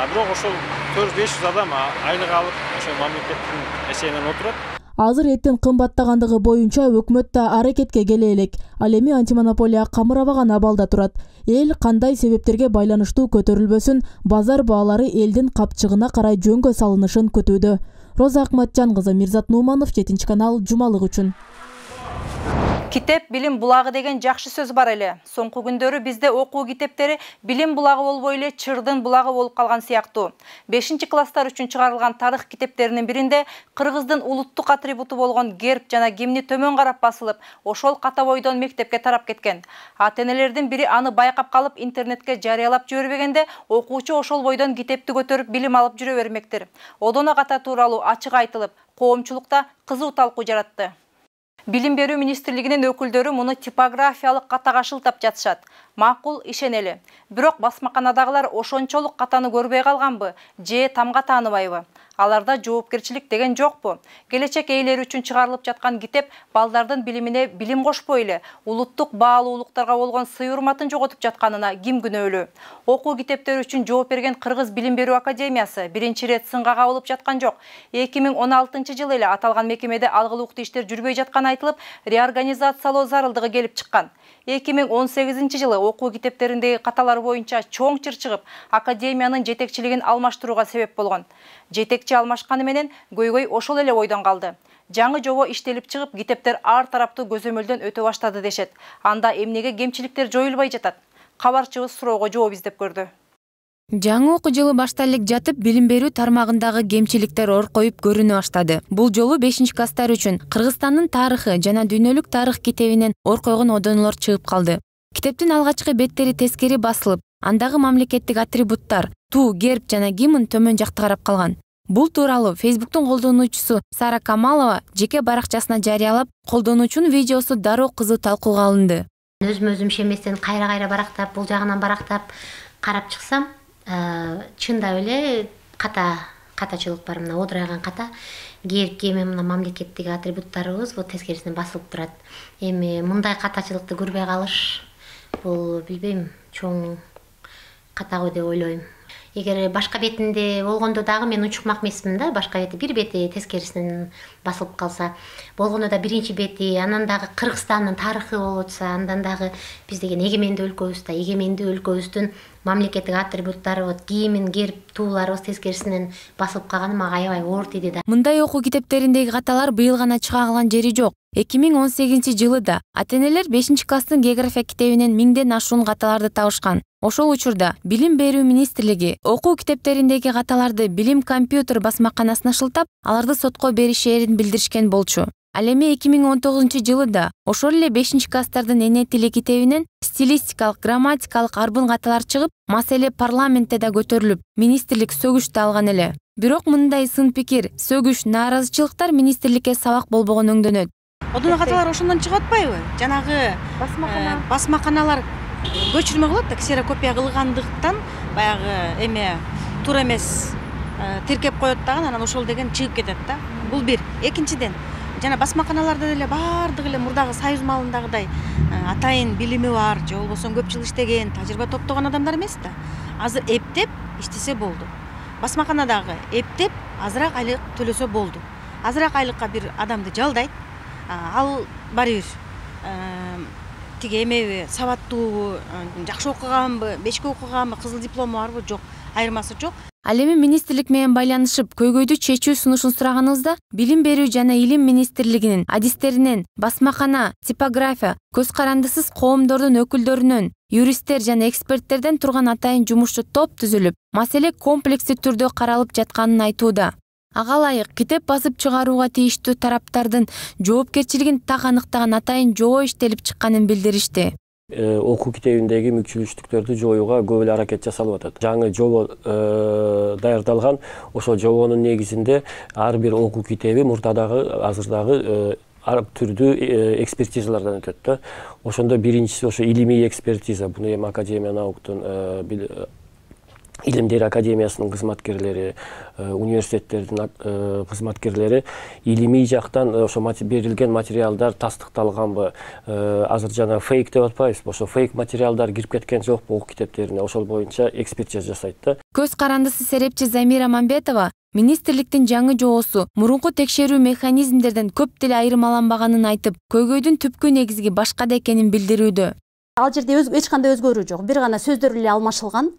Бирок ошол 400-500 адам айлык алып, ошо мамлекеттин эсебинен отурат. Азыр эттин кымбаттагандыгы боюнча өкмөт да аракетке келе элек. Ал эми антимонополия камырабаган абалда турат. Эл кандай себептерге байланыштуу көтөрүлбөсүн, базар баалары элдин капчыгына карай жөнгө салынышын күтүүдө. Роза Акматжан кызы, Мирзат Нуманов, 7 канал, жумалык үчүн. Китеп билим булагы деген жакшы сөз бар эле. Соңку күндөрү бизде окуу китептери билим булагы болбой эле чырдын булагы болуп калган сыяктуу. 5-класстар үчүн чыгарылган тарых китептеринин биринде кыргыздын улуттук атрибуту болгон герб жана гимни төмөн карап басылып, ошол ката бойдон мектепке тарап кеткен. Ата-энелердин бири аны байкап калып интернетке жарыялап жибербегенде, окуучу ошол бойдон китепти көтөрүп билим алып жүрө бермектир. Одоно ката тууралуу ачык айтылып, коомчулукта кызуу талкуу жаратты. Билим берүү министрлигинин өкүлдөрү муну типографиялык катага шылтап жатышат. Макул, ишенели. Бирок басмаканадагылар ошончолук катаны көрбөй калганбы, же тамга тааныбайбы? Аларда жоопкерчилик деген жокпу? Келечек ээлери үчүн чыгарылып жаткан китеп балдардын билимине билим кошпой эле, улуттук баалуулуктарга болгон сый-урматын жоготуп жатканына ким күнөөлүү? Окуу китептери үчүн жооп берген Кыргыз билим берүү академиясы биринчи ирет сынга кабылып жаткан жок. 2016-жылы эле аталган мекемеде алгылыктуу иштер жүрбөй жатканы айтылып, реорганизациялоо зарылдыгы келип чыккан. 2018-жылы окуу китептериндеги каталар боюнча чоң чыр чыгып, академиянын жетекчилигин алмаштырууга себеп болгон. Жетекчи алмашканы менен көйгөй ошол эле ойдон калды. Жаңы жобо иштелип чыгып, китептер ар тараптуу көзөмөлдөн өтө баштады дешет. Анда эмнеге кемчиликтер жоюлбай жатат? Кабарчыбыз суроого жооп издеп көрдү. Жаңы окуу жылы башталып жатып, билим берүү тармагындагы кемчиликтер оркоюп көрүнө баштады. Бул жолу 5-класстар үчүн Кыргызстандын тарыхы жана дүйнөлүк тарых китебинен оркойгон одонолор чыгып калды. Китептин алгачкы беттери тескери басылып, андагы мамлекеттик атрибуттар, ту, герб жана гимн төмөн жакта карап калган. Бул тууралуу Фейсбуктун колдонуучусу Сара Камалова жеке баракчасына жарыялап, колдонуучунун видеосу дароо кызуу талкууга алынды. Өзүм шеместен кайра барактап, бул жагынан барактап карап чыксам, чында эле катачылык бар, мына одурайган ката, герб, гимн, мына мамлекеттик атрибуттарыбыз бул тескерисинен басылып турат. Эми мындай катачылыкты көрбөй калыш, бул билбейм, чоң ката го деп ойлойм. Эгер башка бетинде болгондо дагы мен учукмак эмесмин да, башка бети бир бети тескерисинен басылып калса, болгондо да биринчи бети, анан дагы Кыргызстандын тарыхы болуп атса, андан дагы биз деген эгемендүү өлкөбүз, эгемендүү өлкөбүздүн мамлекеттик атрибуттары, гимн, герб, тууларыбыз тескерисинен басылып калганы мага аябай оор тиди да. Мындай окуу китептериндеги каталар быйыл гана чыга калган жери жок. 2018-жылы да ата-энелер 5-класстын география китебинен 1000ден ашуун каталарды табышкан. Ошол учурда Билим берүү министрлиги окуу китептериндеги каталарды Билим компьютер басмаканасына шылтап, аларды сотко беришээрин билдиришкен болчу. Ал эми 2019-жылы да ошол эле 5-класстардын эне тили китебинен стилистикалык, грамматикалык арбын каталар чыгып, маселе парламентте да көтөрүлүп, министрлик сөгүш да алган эле. Бирок мындай сын пикир, сөгүш, нааразычылыктар министрликке сабак болбогон өңдөнөт. Одоно каталар ошондон чыгып атпайбы? Жанагы басмаканалар көчүрмө кылат да, ксерокопия кылгандыктан баягы эме туура эмес тиркеп коет дагы, анан ошол деген чыгып кетет да. Бул бир. Экинчиден, жана басмаканаларда деле баардыгы эле мурдагы союз маалындагыдай атайын билими бар, же болбосо көп жыл иштеген, тажрыйба топтогон адамдар эмес да. Азыр эптеп иштесе болду. Басмаканадагы эптеп азыраак айлык төлөсө болду. Азыраак айлыкка бир адамды жалдайт. Ал баары бир тиги эмеби, сабаттуубу, жакшы окуганбы, бешке окуганбы, кызыл диплому барбы, жок, айырмасы жок. Ал эми министрлик менен байланышып, көйгөйдү чечүү сунушун сураганыбызда, Билим берүү жана илим министрлигинин адистеринен, басмакана, типография, көз карандысыз коомдордун өкүлдөрүнөн, юристтер жана эксперттерден турган атайын жумушчу топ түзүлүп, маселе комплекстүү түрдө каралып жатканын айтууда. Ага ылайык китеп басып чыгарууга тийиштүү тараптардын жоопкерчилигин так аныктаган атайын жобо иштелип чыкканын билдиришти. Окуу китебиндеги мүкчүлүктүктөрдү жоюуга көп эле аракет жасалып атат. Жаңы жобо даярдалган, ошол жобонун негизинде ар бир окуу китеби мурдадагы, азырдагы ар түрдүү экспертизалардан өтөт да. Ошондо биринчиси ошо илимий экспертиза. Буну эми Академия науктун Илимдер академиясынын кызматкерлери, университеттердин кызматкерлери илимий жактан ошо берилген материалдар тастыкталганбы, азыр жана фейк деп атпайбызбы, ошо фейк материалдар кирип кеткен жокпу окуу китептерине, ошол боюнча экспертиза жасайт да. Көз карандысы серепчи Замира Мамбетова министрликтин жаңы жобосу мурунку текшерүү механизмдерден көп деле айырмаланбаганын айтып, көйгөйдүн түпкү негизги башкада экенин билдирүүдө. Ал жерде эч кандай өзгөрүү жок, бир гана сөздөр эле алмашылган.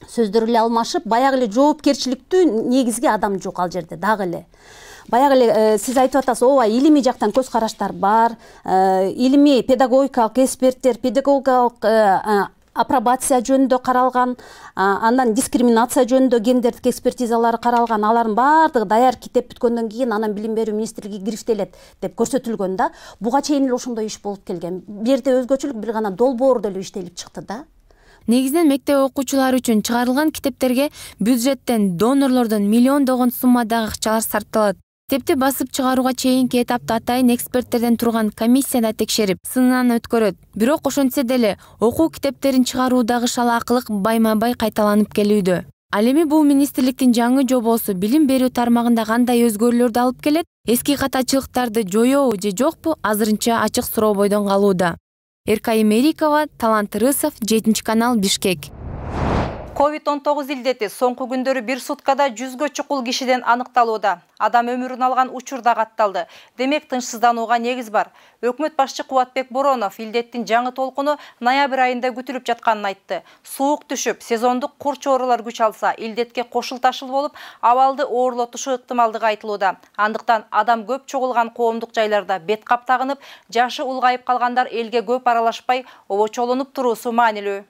Сөздөр эле алмашып, баягы эле жоопкерчиликтүү негизги адам жок ал жерде дагы эле. Баягы эле сиз айтып атасыз, ооба, илимий жактан көз караштар бар, илимий педагогикалык эксперттер, педагогикалык апробация жөнүндө каралган, андан дискриминация жөнүндө гендердик экспертизалары каралган, алардын баардыгы даяр китеп бүткөндөн кийин анан Билим берүү министрлиги кириштелет деп көрсөтүлгөн да. Буга чейин эле ошондой иш болуп келген. Бул жерде өзгөчөлүк бир гана долбоор деле иштелип чыкты да. Негизинен мектеп окуучулары үчүн чыгарылган китептерге бюджеттен, донорлордон миллиондогон суммадагы акчалар сарпталат. Китепти басып чыгарууга чейинки этапты атайын эксперттерден турган комиссияда текшерип, сынынан өткөрөт. Бирок ошентсе деле окуу китептерин чыгаруудагы шалаакылык байма-бай кайталанып келүүдө. Ал эми бул министрликтин жаңы жобосу билим берүү тармагында кандай өзгөрүүлөрдү алып келет? Эски катачылыктарды жоёбу же жокпу? Азырынча ачык сурообойдон калууда. Эркай Мерикова, Талант Рысов, 7 канал, Бишкек. COVID-19 илдети соңку күндөрү бир суткада 100гө чукул кишиден аныкталууда. Адам өмүрүн алган учурда катталды. Демек тынчсызданууга негиз бар. Өкмөт башчы Кубатбек Боронов илдеттин жаңы толкуну ноябрь айында күтүлүп жатканын айтты. Суук түшүп, сезондук кур чоорулар күч алса, илдетке кошулташыл болуп, абалды оорлотушу ыктымалдыгы айтылууда. Андыктан адам көп чогулган коомдук жайларда бет кап тагынып, жашы улгайып калгандар элге көп аралашпай, обочолонуп туруусу маанилүү.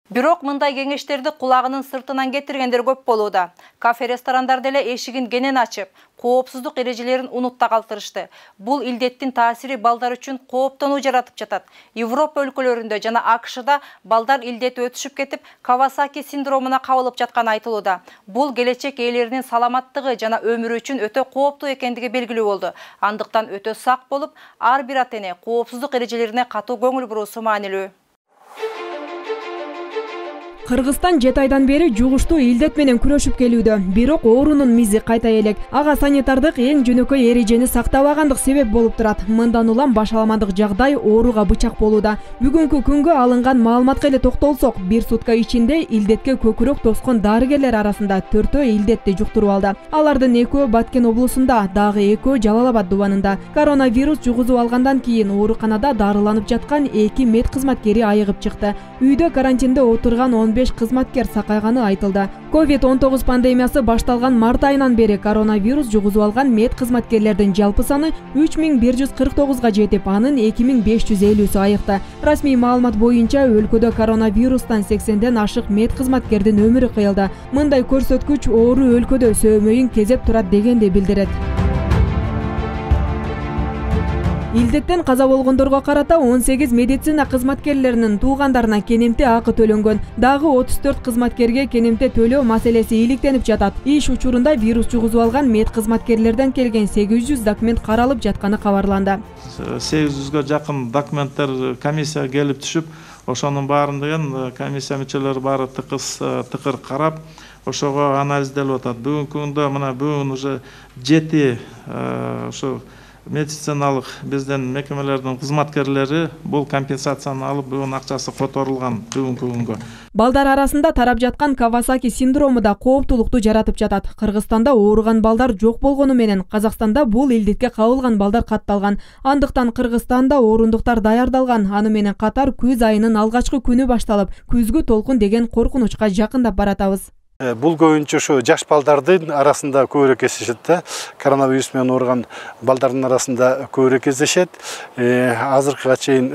Бирок мындай кеңештерди кулагынын сыртынан кетиргендер көп болууда. Кафе-ресторандар деле эшигин кенен ачып, коопсуздук эрежелерин унутта калтырышты. Бул илдеттин таасири балдар үчүн кооптонуу жаратып жатат. Европа өлкөлөрүндө жана АКШда балдар илдети өтүшүп кетип, Кавасаки синдромуна кабылып жатканы айтылууда. Бул келечек ээлеринин саламаттыгы жана өмүрү үчүн өтө кооптуу экендиги белгилүү болду. Андыктан өтө сак болуп, ар бир ата-эне коопсуздук эрежелерине катуу көңүл буруусу маанилүү. Кыргызстан 7 айдан бери жугуштуу илдет менен күрөшүп келүүдө. Бирок оорунун мизи кайта элек. Ага санитардык эң жөнөкөй эрежени сактабагандык себеп болуп турат. Мындан улам башаламандык жагдай ооруга бычак болууда. Бүгүнкү күнгө алынган маалыматка эле токтолсок, бир сутка ичинде илдетке көкүрөк тоскон дарыгерлер арасында 4 илдетти жуктуруп алды. Алардын 2 Баткен облусунда, дагы 2 Жалал Абад дубанында. Коронавирус жугузуп алгандан кийин ооруканада дарыланып жаткан 2 мед кызматкери айыгып чыкты. Үйдө карантинде отурган 15 кызматкер сакайганы айтылды. COVID-19 пандемиясы башталган март айынан бери коронавирус жугузуп алган мед кызматкерлердин жалпы саны 3149га жетип, анын 2550сү айыкты. Расмий маалымат боюнча өлкөдө коронавирустан 80ден ашык мед кызматкердин өмүрү кыйылды. Мындай көрсөткүч оору өлкөдө сөөмөйүн кезеп турат дегенди билдирет. Илдеттен каза болгондорго карата 18 медицина кызматкерлеринин туугандарына кенемти акы төлөнгөн. Дагы 34 кызматкерге кенемти төлөө маселеси иликтенип жатат. Иш учурунда вирус жугузуп алган мед кызматкерлерден келген 800 документ каралып жатканы кабарланды. 800гө жакын документтер комиссияга келип түшүп, ошонун баарын комиссия мүчөлөрү баары тыкыр карап, ошого анализделип атат. Бүгүнкү күндө мына бүгүн уже 7 ошо медициналык бизден мекемелердин кызматкерлери бул компенсацияны алып, бүгүн акчасы которулган бүгүнкү күнгө. Балдар арасында тарап жаткан Кавасаки синдрому да кооптулукту жаратып жатат. Кыргызстанда ооруган балдар жок болгону менен Казакстанда бул илдетке кабылган балдар катталган. Андыктан Кыргызстанда орундуктар даярдалган. Аны менен катар күз айынын алгачкы күнү башталып, күзгү толкун деген коркунучка жакындап баратабыз. Бул көбүнчө ошо жаш балдардын арасында көбүрөөк кездешет да. Коронавирус менен ооруган балдардын арасында көбүрөөк кездешет. Азыркыга чейин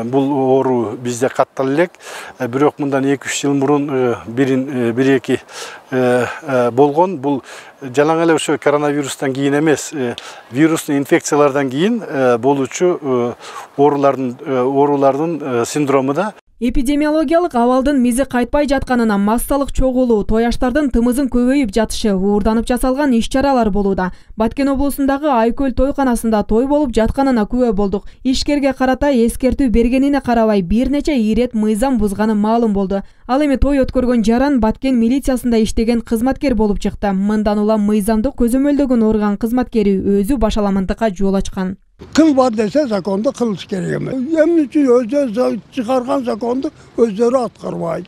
бул оору бизде каттала элек. Бирок мындан 2-3 жыл мурун бир-эки болгон. Бул жалаң эле ошо коронавирустан кийин эмес, вирустун инфекциялардан кийин болуучу оорулардын синдрому да. Эпидемиологиялык абалдын мизи кайтпай жатканына массалык чогулуу, тояштардын тымызын көбөйүп жатышы, уурданып жасалган иш-чаралар болууда. Баткен облусундагы Айкөл тойканасында той болуп жатканына күбө болдук. Ишкерге карата эскертүү бергенине карабай бир нече ирет мыйзам бузганы маалым болду. Ал эми той өткөргөн жаран Баткен милициясында иштеген кызматкер болуп чыкты. Мындан улам мыйзамдык көзөмөлдөгөн орган кызматкери өзү башаламандыкка жол ачкан. Кыл бар десе законду кылыш керек эмес. Эмне үчүн өзү чыгарган законду өздөрү аткарбайт.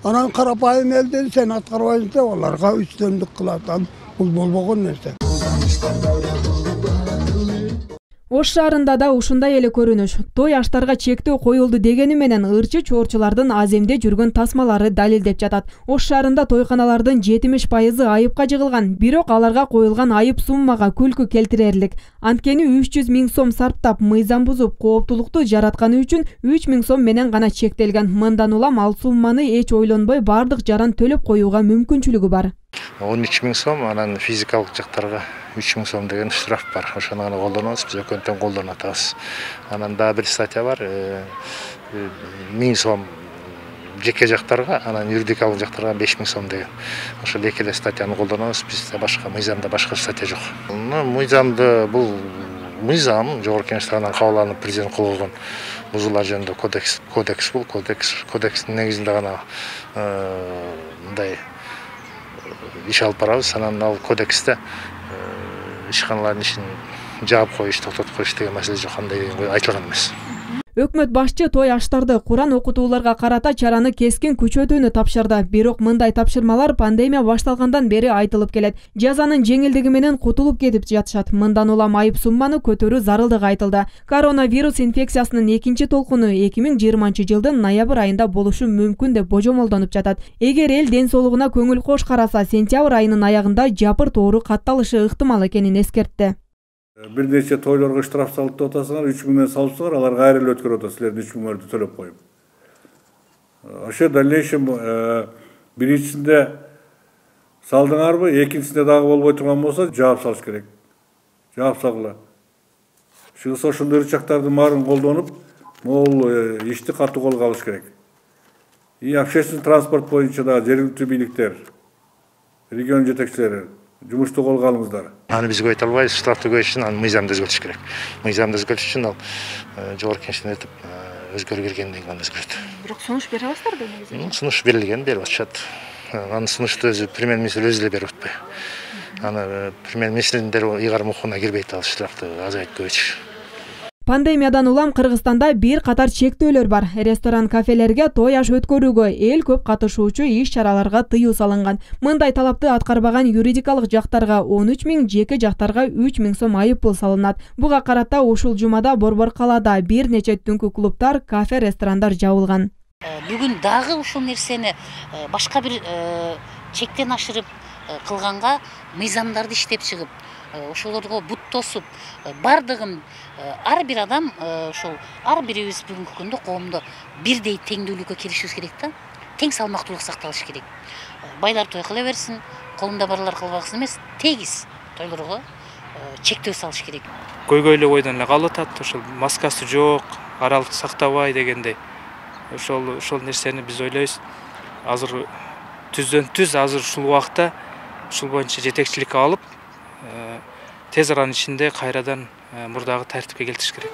Анан карапайым элден сен аткарбайсың деп аларга үстөмдүк кылат. Бул болбогон нерсе. Ош шаарында да ушундай эле көрүнүш. Той аштарга чектөө коюлду дегени менен ырчы чоорчулардын аземде жүргөн тасмалары далилдеп жатат. Ош шаарында тойканалардын 70% айыпка жыгылган, бирок аларга коюлган айып суммага күлкү келтирерлик. Анткени 300 000 сом сарптап, мыйзам бузуп, кооптулукту жаратканы үчүн 3 000 сом менен гана чектелген. Мындан улам ал сумманы эч ойлонбой бардык жаран төлөп коюуга мүмкүнчүлүгү бар. 13 000 сом, анан физикалык жактарга 3 000 сом деген штраф бар. Ошону гана колдонобуз, биз өкөнтөн колдонуп атабыз. Анан дагы бир статья бар, 1000 сом жеке жактарга, анан юридикалык жактарга 5 000 сом деген. Ошол эки эле статьяны колдонобуз, бизде башка мыйзамда башка статья жок. Мыйзамды бул мыйзам жогорку кеңеш тарабынан кабыл алынып президент кол койгон бузуулар жөнүндө кодекс бул, кодекстин негизинде гана мындай иш алып барабыз. Анан ал кодексте ишканалардын ишин жаап коюш, токтотуп коюш деген маселе жок, андай айтылган эмес. Өкмөт башчы той аштарды Куран окутууларга карата чараны кескин күчөтүүнү тапшырды. Бирок мындай тапшырмалар пандемия башталгандан бери айтылып келет. Жазанын жеңилдиги менен кутулуп кетип жатышат. Мындан улам айып сумманы көтөрүү зарылдыгы айтылды. Коронавирус инфекциясынын экинчи толкуну 2020-жылдын ноябрь айында болушу мүмкүн деп божомолдонуп жатат. Эгер эл ден соолугуна көңүл кош караса, сентябрь айынын аягында жапырт оору катталышы ыктымал экенин эскертти. Бир нече тойлорго штраф салып деп атасыңар, 3 000 менен салыпсыңар, аларга айры эле өткөрүп атасыз, силердин 3 000 төлөп коюп. Ошо дальнейшем биринчисинде салдыңарбы, экинчисинде дагы болбой турган болсо жаап салыш керек. Жаап салгыла. Чыгыс ошондой ырчактардын баарын колдонуп, могул ишти катуу колго алыш керек. И общественный транспорт боюнча да жергиликтүү бийликтер, регион жетекчилери жумушту колго алыңыздар. Аны биз көйт албайбыз, штрафты көйүш үчүн аны мыйзамды өзгөртүш керек. Мыйзамды өзгөртүш үчүн ал жогорку кеңештен өтүп өзгөрүү бергенден кийин өзгөрөт. Бирок сунуш бере аласыздарбы негизи? Сунуш берилген, берип атышат. Аны сунушту өзү премьер-министр өзү эле берип атпайбы. Аны премьер-министрдин дароо ыйгарым укугуна кирбейт, ал штрафты азайтып көбөйтүш. Пандемиядан улам Кыргызстанда бир катар чектөөлөр бар. Ресторан, кафелерге той аш өткөрүүгө, эл көп катышуучу иш-чараларга тыюу салынган. Мындай талапты аткарбаган юридикалык жактарга 13 000, жеке жактарга 3 000 сом айып пул салынат. Буга карата ушул жумада Борбор калаада бир нече түнкү клубтар, кафе, ресторандар жабылган. Бүгүн дагы ушул нерсени башка бир чектен ашырып кылганга мыйзамдарды иштеп чыгып, ошолорго бут тосуп, бардыгын ар бир адам ошол ар бирибиз бүгүнкү күндө коомдо бирдей теңдүүлүккө келишибиз керек да. Тең салмактуулук сакталыш керек. Байлар той кыла берсин, колунда барлар кылбаксын эмес, тегиз тойлорго чектөө салыш керек. Көйгөй эле ойдон эле калып атат, ошол маскасы жок, аралык сактабай дегендей. Ошол нерсени биз ойлойбуз. Азыр түздөн түз азыр ушул убакта ушул боюнча жетекчиликке алып, тез аранын ичинде кайрадан мурдагы тартипке келтириш керек.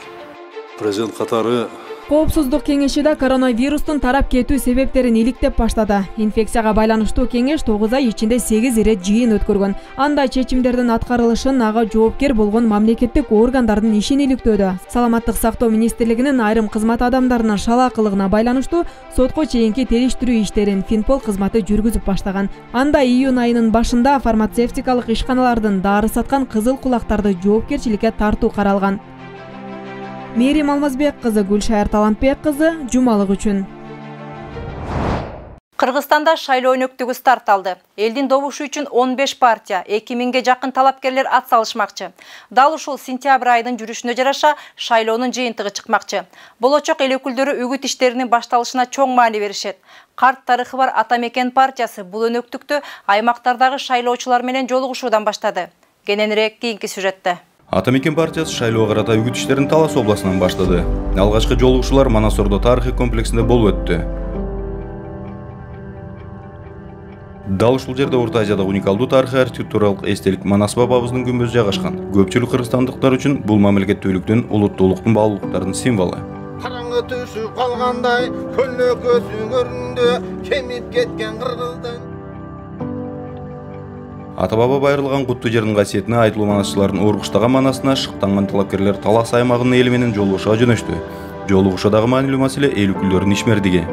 Президент катары Коопсуздук кеңеши да коронавирустун тарап кетүү себептерин иликтеп баштады. Инфекцияга байланыштуу кеңеш 9 ай ичинде 8 ирет жыйын өткөргөн. Анда чечимдердин аткарылышын ага жоопкер болгон мамлекеттик органдардын ишин иликтөөдө. Саламаттык сактоо министрлигинин айрым кызмат адамдарынын шалаакылыгына байланыштуу сотко чейинки териштирүү иштерин Финпол кызматы жүргүзүп баштаган. Анда июнь айынын башында фармацевтикалык ишканалардын дары саткан кызыл кулактарды жоопкерчиликке тартуу каралган. Мерим Алмазбек кызы, Гүлшайыр Талантбек кызы, жумалык үчүн. Кыргызстанда шайлоо өнөктүгү старт алды. Элдин добушу үчүн 15 партия, 2000ге жакын талапкерлер ат салышмакчы. Дал ушул сентябрь айынын жүрүшүнө жараша шайлоонун жыйынтыгы чыкмакчы. Болочок эл өкүлдөрү үгүт иштеринин башталышына чоң маани беришет. Карт тарыхы бар Ата Мекен партиясы бул өнөктүктү аймактардагы шайлоочулар менен жолугушуудан баштады. Кененирээк кийинки сюжетте. Ата Мекен партиясы шайлоо карата үгүт иштерин Талас областынан баштады. Алгачкы жолугушуулар Манасордо тарыхый комплексинде болуп өттү. Дал ушул жерде Орто Азияда уникалдуу тарыхый архитектуралык эстелик Манас бабабыздын күмбөзү жайгашкан. Көпчүлүк кыргызстандыктар үчүн бул мамлекеттүүлүктүн, улуттуулуктун баалуулуктардын символу. Караңгы түшүп калгандай көлөкөсү көрүндү, кемип кеткен кыргыздын. Ата-баба байырылган куттуу жердин касиетине айтылуу манасчылардын Оргуштаган манасына шыктанган талапкерлер Талас аймагынын эли менен жолугушууга жөнөштү. Жолугушуудагы маанилүү маселе эл өкүлдөрүнүн ишмердиги.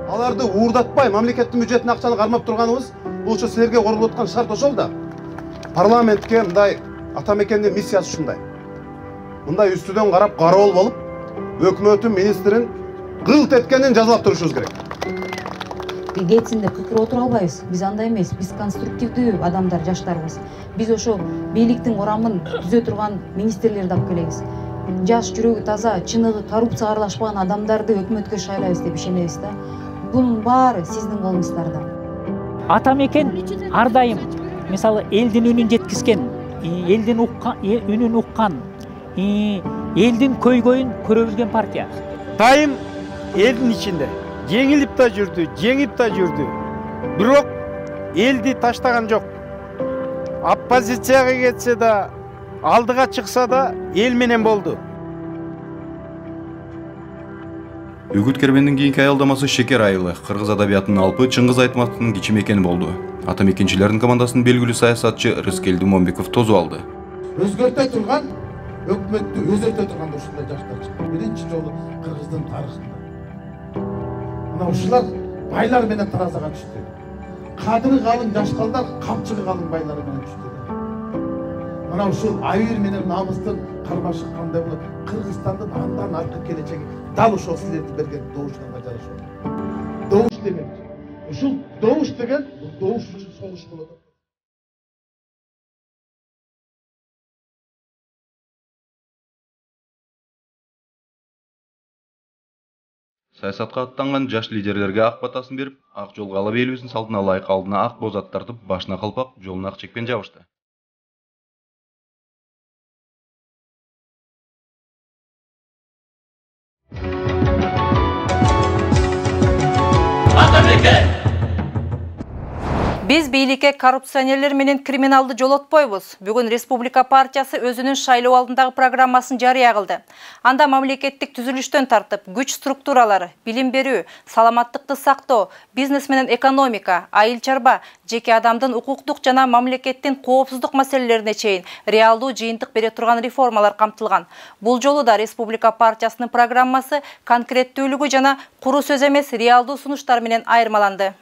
Аларды уурдатпай мамлекеттин бюджетине акчаны кармап турганыбыз бул силерге корулуп аткан шарт ошол да. Парламентке мындай Атамекендин миссиясы ушундай. Мындай үстүдөн карап кароол болуп, өкмөттүн министрин кылт эткенин жазалап турушубуз керек. Кетсинде кыкыр отура албайбыз. Биз андай эмес. Биз конструктивдүү адамдар, жаштарбыз. Биз ошо бийликтин курамын түзө турган министрлерди алып келебиз. Жаш, жүрөгү таза, чыныгы коррупцияга аралашпаган адамдарды өкмөткө шайлайбыз деп ишенебиз да. Бунун баары сиздин колуңуздарда. Атамекен ар дайым мисалы элдин үнүн жеткизген, элдин үнүн уккан, элдин көйгөйүн көрө билген партия. Дайым элдин ичинде жеңилип да жүрдү, жеңип да жүрдү. Бирок элди таштаган жок. Оппозицияга кетсе да, алдыга чыкса да эл менен болду. Үгүт кербендин кийинки аялдамасы Шекер айылы. Кыргыз адабиятынын алпы Чыңгыз Айтматовдун кичимекени болду. Атамекенчилердин командасынын белгилүү саясатчы Рыскелди Момбеков тозуп алды. Өзгөртө турган өкмөттү өзгөртө турган ушундай жаштар чыкты. Биринчи жолу Кыргыздын тарыхында. Мына ушулар байлар менен таразага түштү. Кадыры калың жашкалдар камчыгы калың байлар менен түштү. Мына ушул айыр менен намыстын кармашы кандай болот? Кыргызстандын андан аркы келечеги дал ошол силерди берген добушканга жараша. Добуш демек. Ушул добуш деген добуш үчүн согуш болот. Саясатка аттанган жаш лидерлерге ак батасын берип, ак жолго алып элибиздин салтына ылайык алдына ак боз ат тартып, башына калпак, жолуна ак чекпен жабышты. Биз бийликке коррупционерлер менен криминалды жолотпойбуз. Бүгүн Республика партиясы өзүнүн шайлоо алдындагы программасын жарыя кылды. Анда мамлекеттик түзүлүштөн тартып, күч структуралары, билим берүү, саламаттыкты сактоо, бизнес менен экономика, айыл чарба, жеке адамдын укуктук жана мамлекеттин коопсуздук маселелерине чейин реалдуу жыйынтык бере турган реформалар камтылган. Бул жолу да Республика партиясынын программасы конкреттүүлүгү жана куру сөз эмес реалдуу сунуштар менен айырмаланды.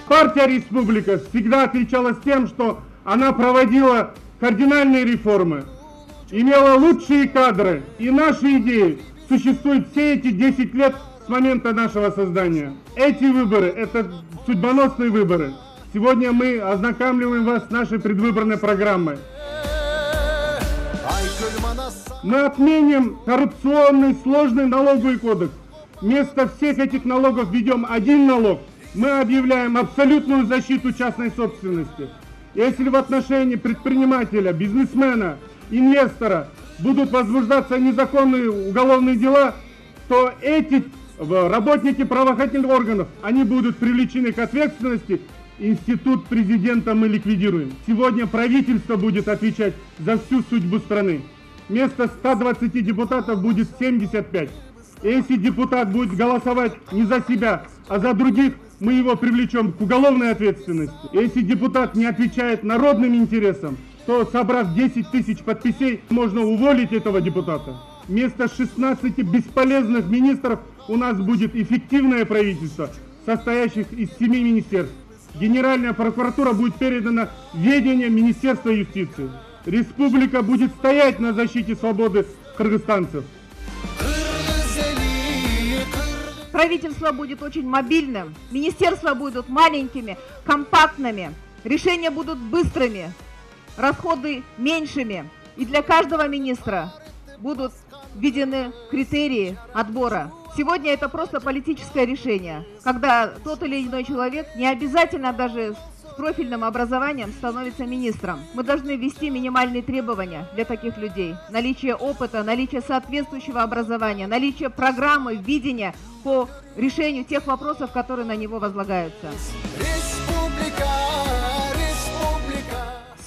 Партия «Республика» всегда отличалась тем, что она проводила кардинальные реформы, имела лучшие кадры, и наши идеи существуют все эти 10 лет с момента нашего создания. Эти выборы – это судьбоносные выборы. Сегодня мы ознакомливаем вас с нашей предвыборной программой. Мы отменим коррупционный сложный налоговый кодекс. Вместо всех этих налогов введем один налог. Мы объявляем абсолютную защиту частной собственности. Если в отношении предпринимателя, бизнесмена, инвестора будут возбуждаться незаконные уголовные дела, то эти работники правоохранительных органов, они будут привлечены к ответственности. Институт президента мы ликвидируем. Сегодня правительство будет отвечать за всю судьбу страны. Вместо 120 депутатов будет 75. Если депутат будет голосовать не за себя, а за других, мы его привлечем к уголовной ответственности. Если депутат не отвечает народным интересам, то, собрав 10 тысяч подписей, можно уволить этого депутата. Вместо 16 бесполезных министров у нас будет эффективное правительство, состоящее из 7 министерств. Генеральная прокуратура будет передана в ведение Министерства юстиции. Республика будет стоять на защите свободы кыргызстанцев. Правительство будет очень мобильным, министерства будут маленькими, компактными, решения будут быстрыми, расходы меньшими. И для каждого министра будут введены критерии отбора. Сегодня это просто политическое решение, когда тот или иной человек, не обязательно даже с профильным образованием, становится министром. Мы должны ввести минимальные требования для таких людей. Наличие опыта, наличие соответствующего образования, наличие программы, видения по решению тех вопросов, которые на него возлагаются.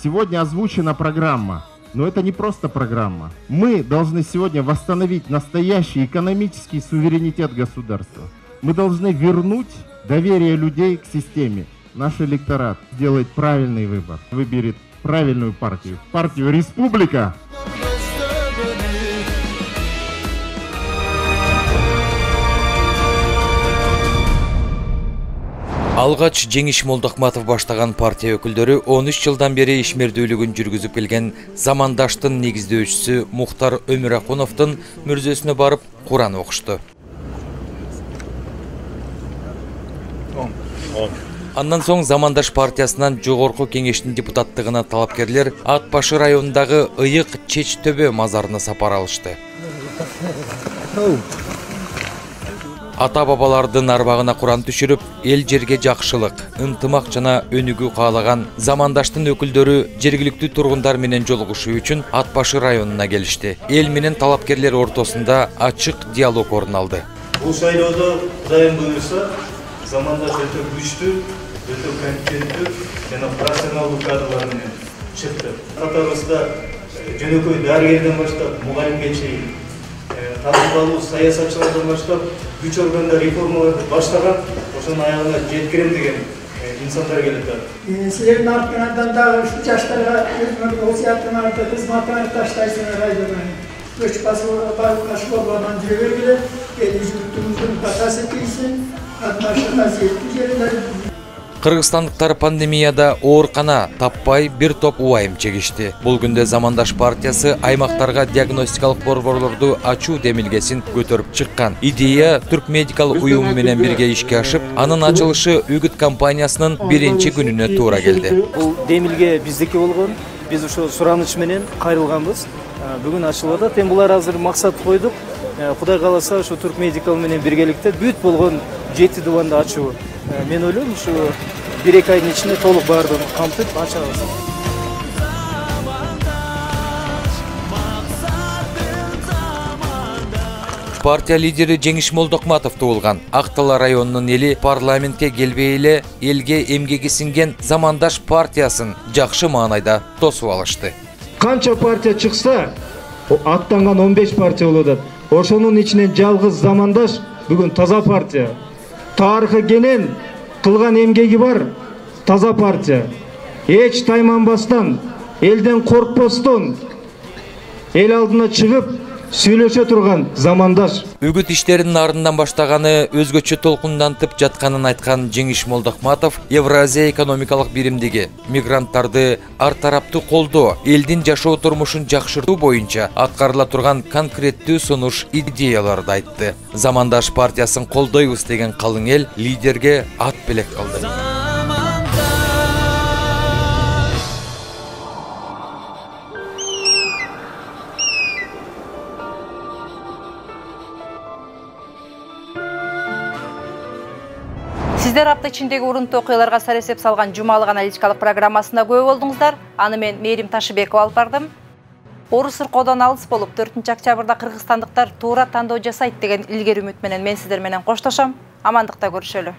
Сегодня озвучена программа. Но это не просто программа. Мы должны сегодня восстановить настоящий экономический суверенитет государства. Мы должны вернуть доверие людей к системе. Наш электорат сделает правильный выбор, выберет правильную партию. Партию «Республика». Алгач Жеңиш Молдокматов баштаган партия өкүлдөрү 13 жылдан бери ишмердүүлүгүн жүргүзүп келген Замандаштын негиздөөчүсү Мухтар Өмүракуновдун мүрзөсүнө барып Куран окушту. Андан соң Замандаш партиясынан жогорку кеңештин депутаттыгына талапкерлер Ат Башы районундагы Ыйык Чеч төбө мазарына сапар алышты. Ата-бабалардын арбагына Куран түшүрүп, эл жерге жакшылык, ынтымак жана өнүгүү каалаган Замандаштын өкүлдөрү жергиликтүү тургундар менен жолугушуу үчүн Ат Башы районуна келишти. Эл менен талапкерлер ортосунда ачык диалог орун алды. Бул шайлоодо Кудайым буйруса, Замандаш өтө күчтүү, өтө компетенттүү жана профессионалдуу кадрлар менен чыкты. Катарыбызда жөнөкөй дарыгерден баштап мугалимге чейин, тажрыйбалуу саясатчылардан баштап күч органда реформаларды баштаган, ошонун аягына жеткирем деген инсандар келет. Силердин артыңардан дагы ушул жаштарга өзүңөрдүн осуятыңарды, кызматыңарды таштайсыңар районуна. Көч басылган школалардан жүрө бергиле, эл үзүлүктүгүңүздүн батасы тийсин, катнашуу касиеттүү жердер. Кыргызстандыктар пандемияда оорукана таппай бир топ убайым чегишти. Бул күндө Замандаш партиясы аймактарга диагностикалык борборлорду ачуу демилгесин көтөрүп чыккан. Идея Түрк медикалык уюму менен бирге ишке ашып, анын ачылышы Үгүт компаниясынын биринчи күнүнө туура келди. Бул демилге биздики болгон, биз ошо сураныч менен кайрылганбыз. Бүгүн ачылып атат. Эми булар азыр максат койдук. Кудай кааласа ошо Түрк медикал менен биргеликте бүт болгон 7 дубанды ачуу. Мен ойлойм, ушу 1-2 айдын ичинде толук баардыгын камтып ачабыз. Партия лидери Жеңиш Молдокматов туулган. Актала районунун эли парламентке келбей эле элге эмгеги сиңген Замандаш партиясын жакшы маанайда тосуп алышты. Канча партия чыкса, аттанган 15 партия болот. Ошонун ичинен жалгыз Замандаш бүгүн таза партия. Тарыхы кенен кылган эмгеги бар таза партия. Эч тайманбастан, элден коркпостон эл алдына чыгып сүйлөшө турган Замандаш. Үгүт иштеринин ардынан баштаганы өзгөчө толкундантып жатканын айткан Жеңиш Молдокматов Евразия экономикалык биримдиги мигранттарды ар тараптуу колдоо, элдин жашоо турмушун жакшыртуу боюнча аткарыла турган конкреттүү сунуш идеяларды айтты. Замандаш партиясын колдойбуз деген калың эл лидерге ат белек кылды. Сиздер апта ичиндеги урунтуу окуяларга сар эсеп салган жумалык аналитикалык программасында күбө болдуңуздар. Аны мен Мээрим Ташыбекова алып бардым. Орус ыркоодон алыс болуп 4 октябрда кыргызстандыктар туура тандоо жасайт деген илгери үмүт менен мен сиздер менен коштошом. Амандыкта көрүшөлү.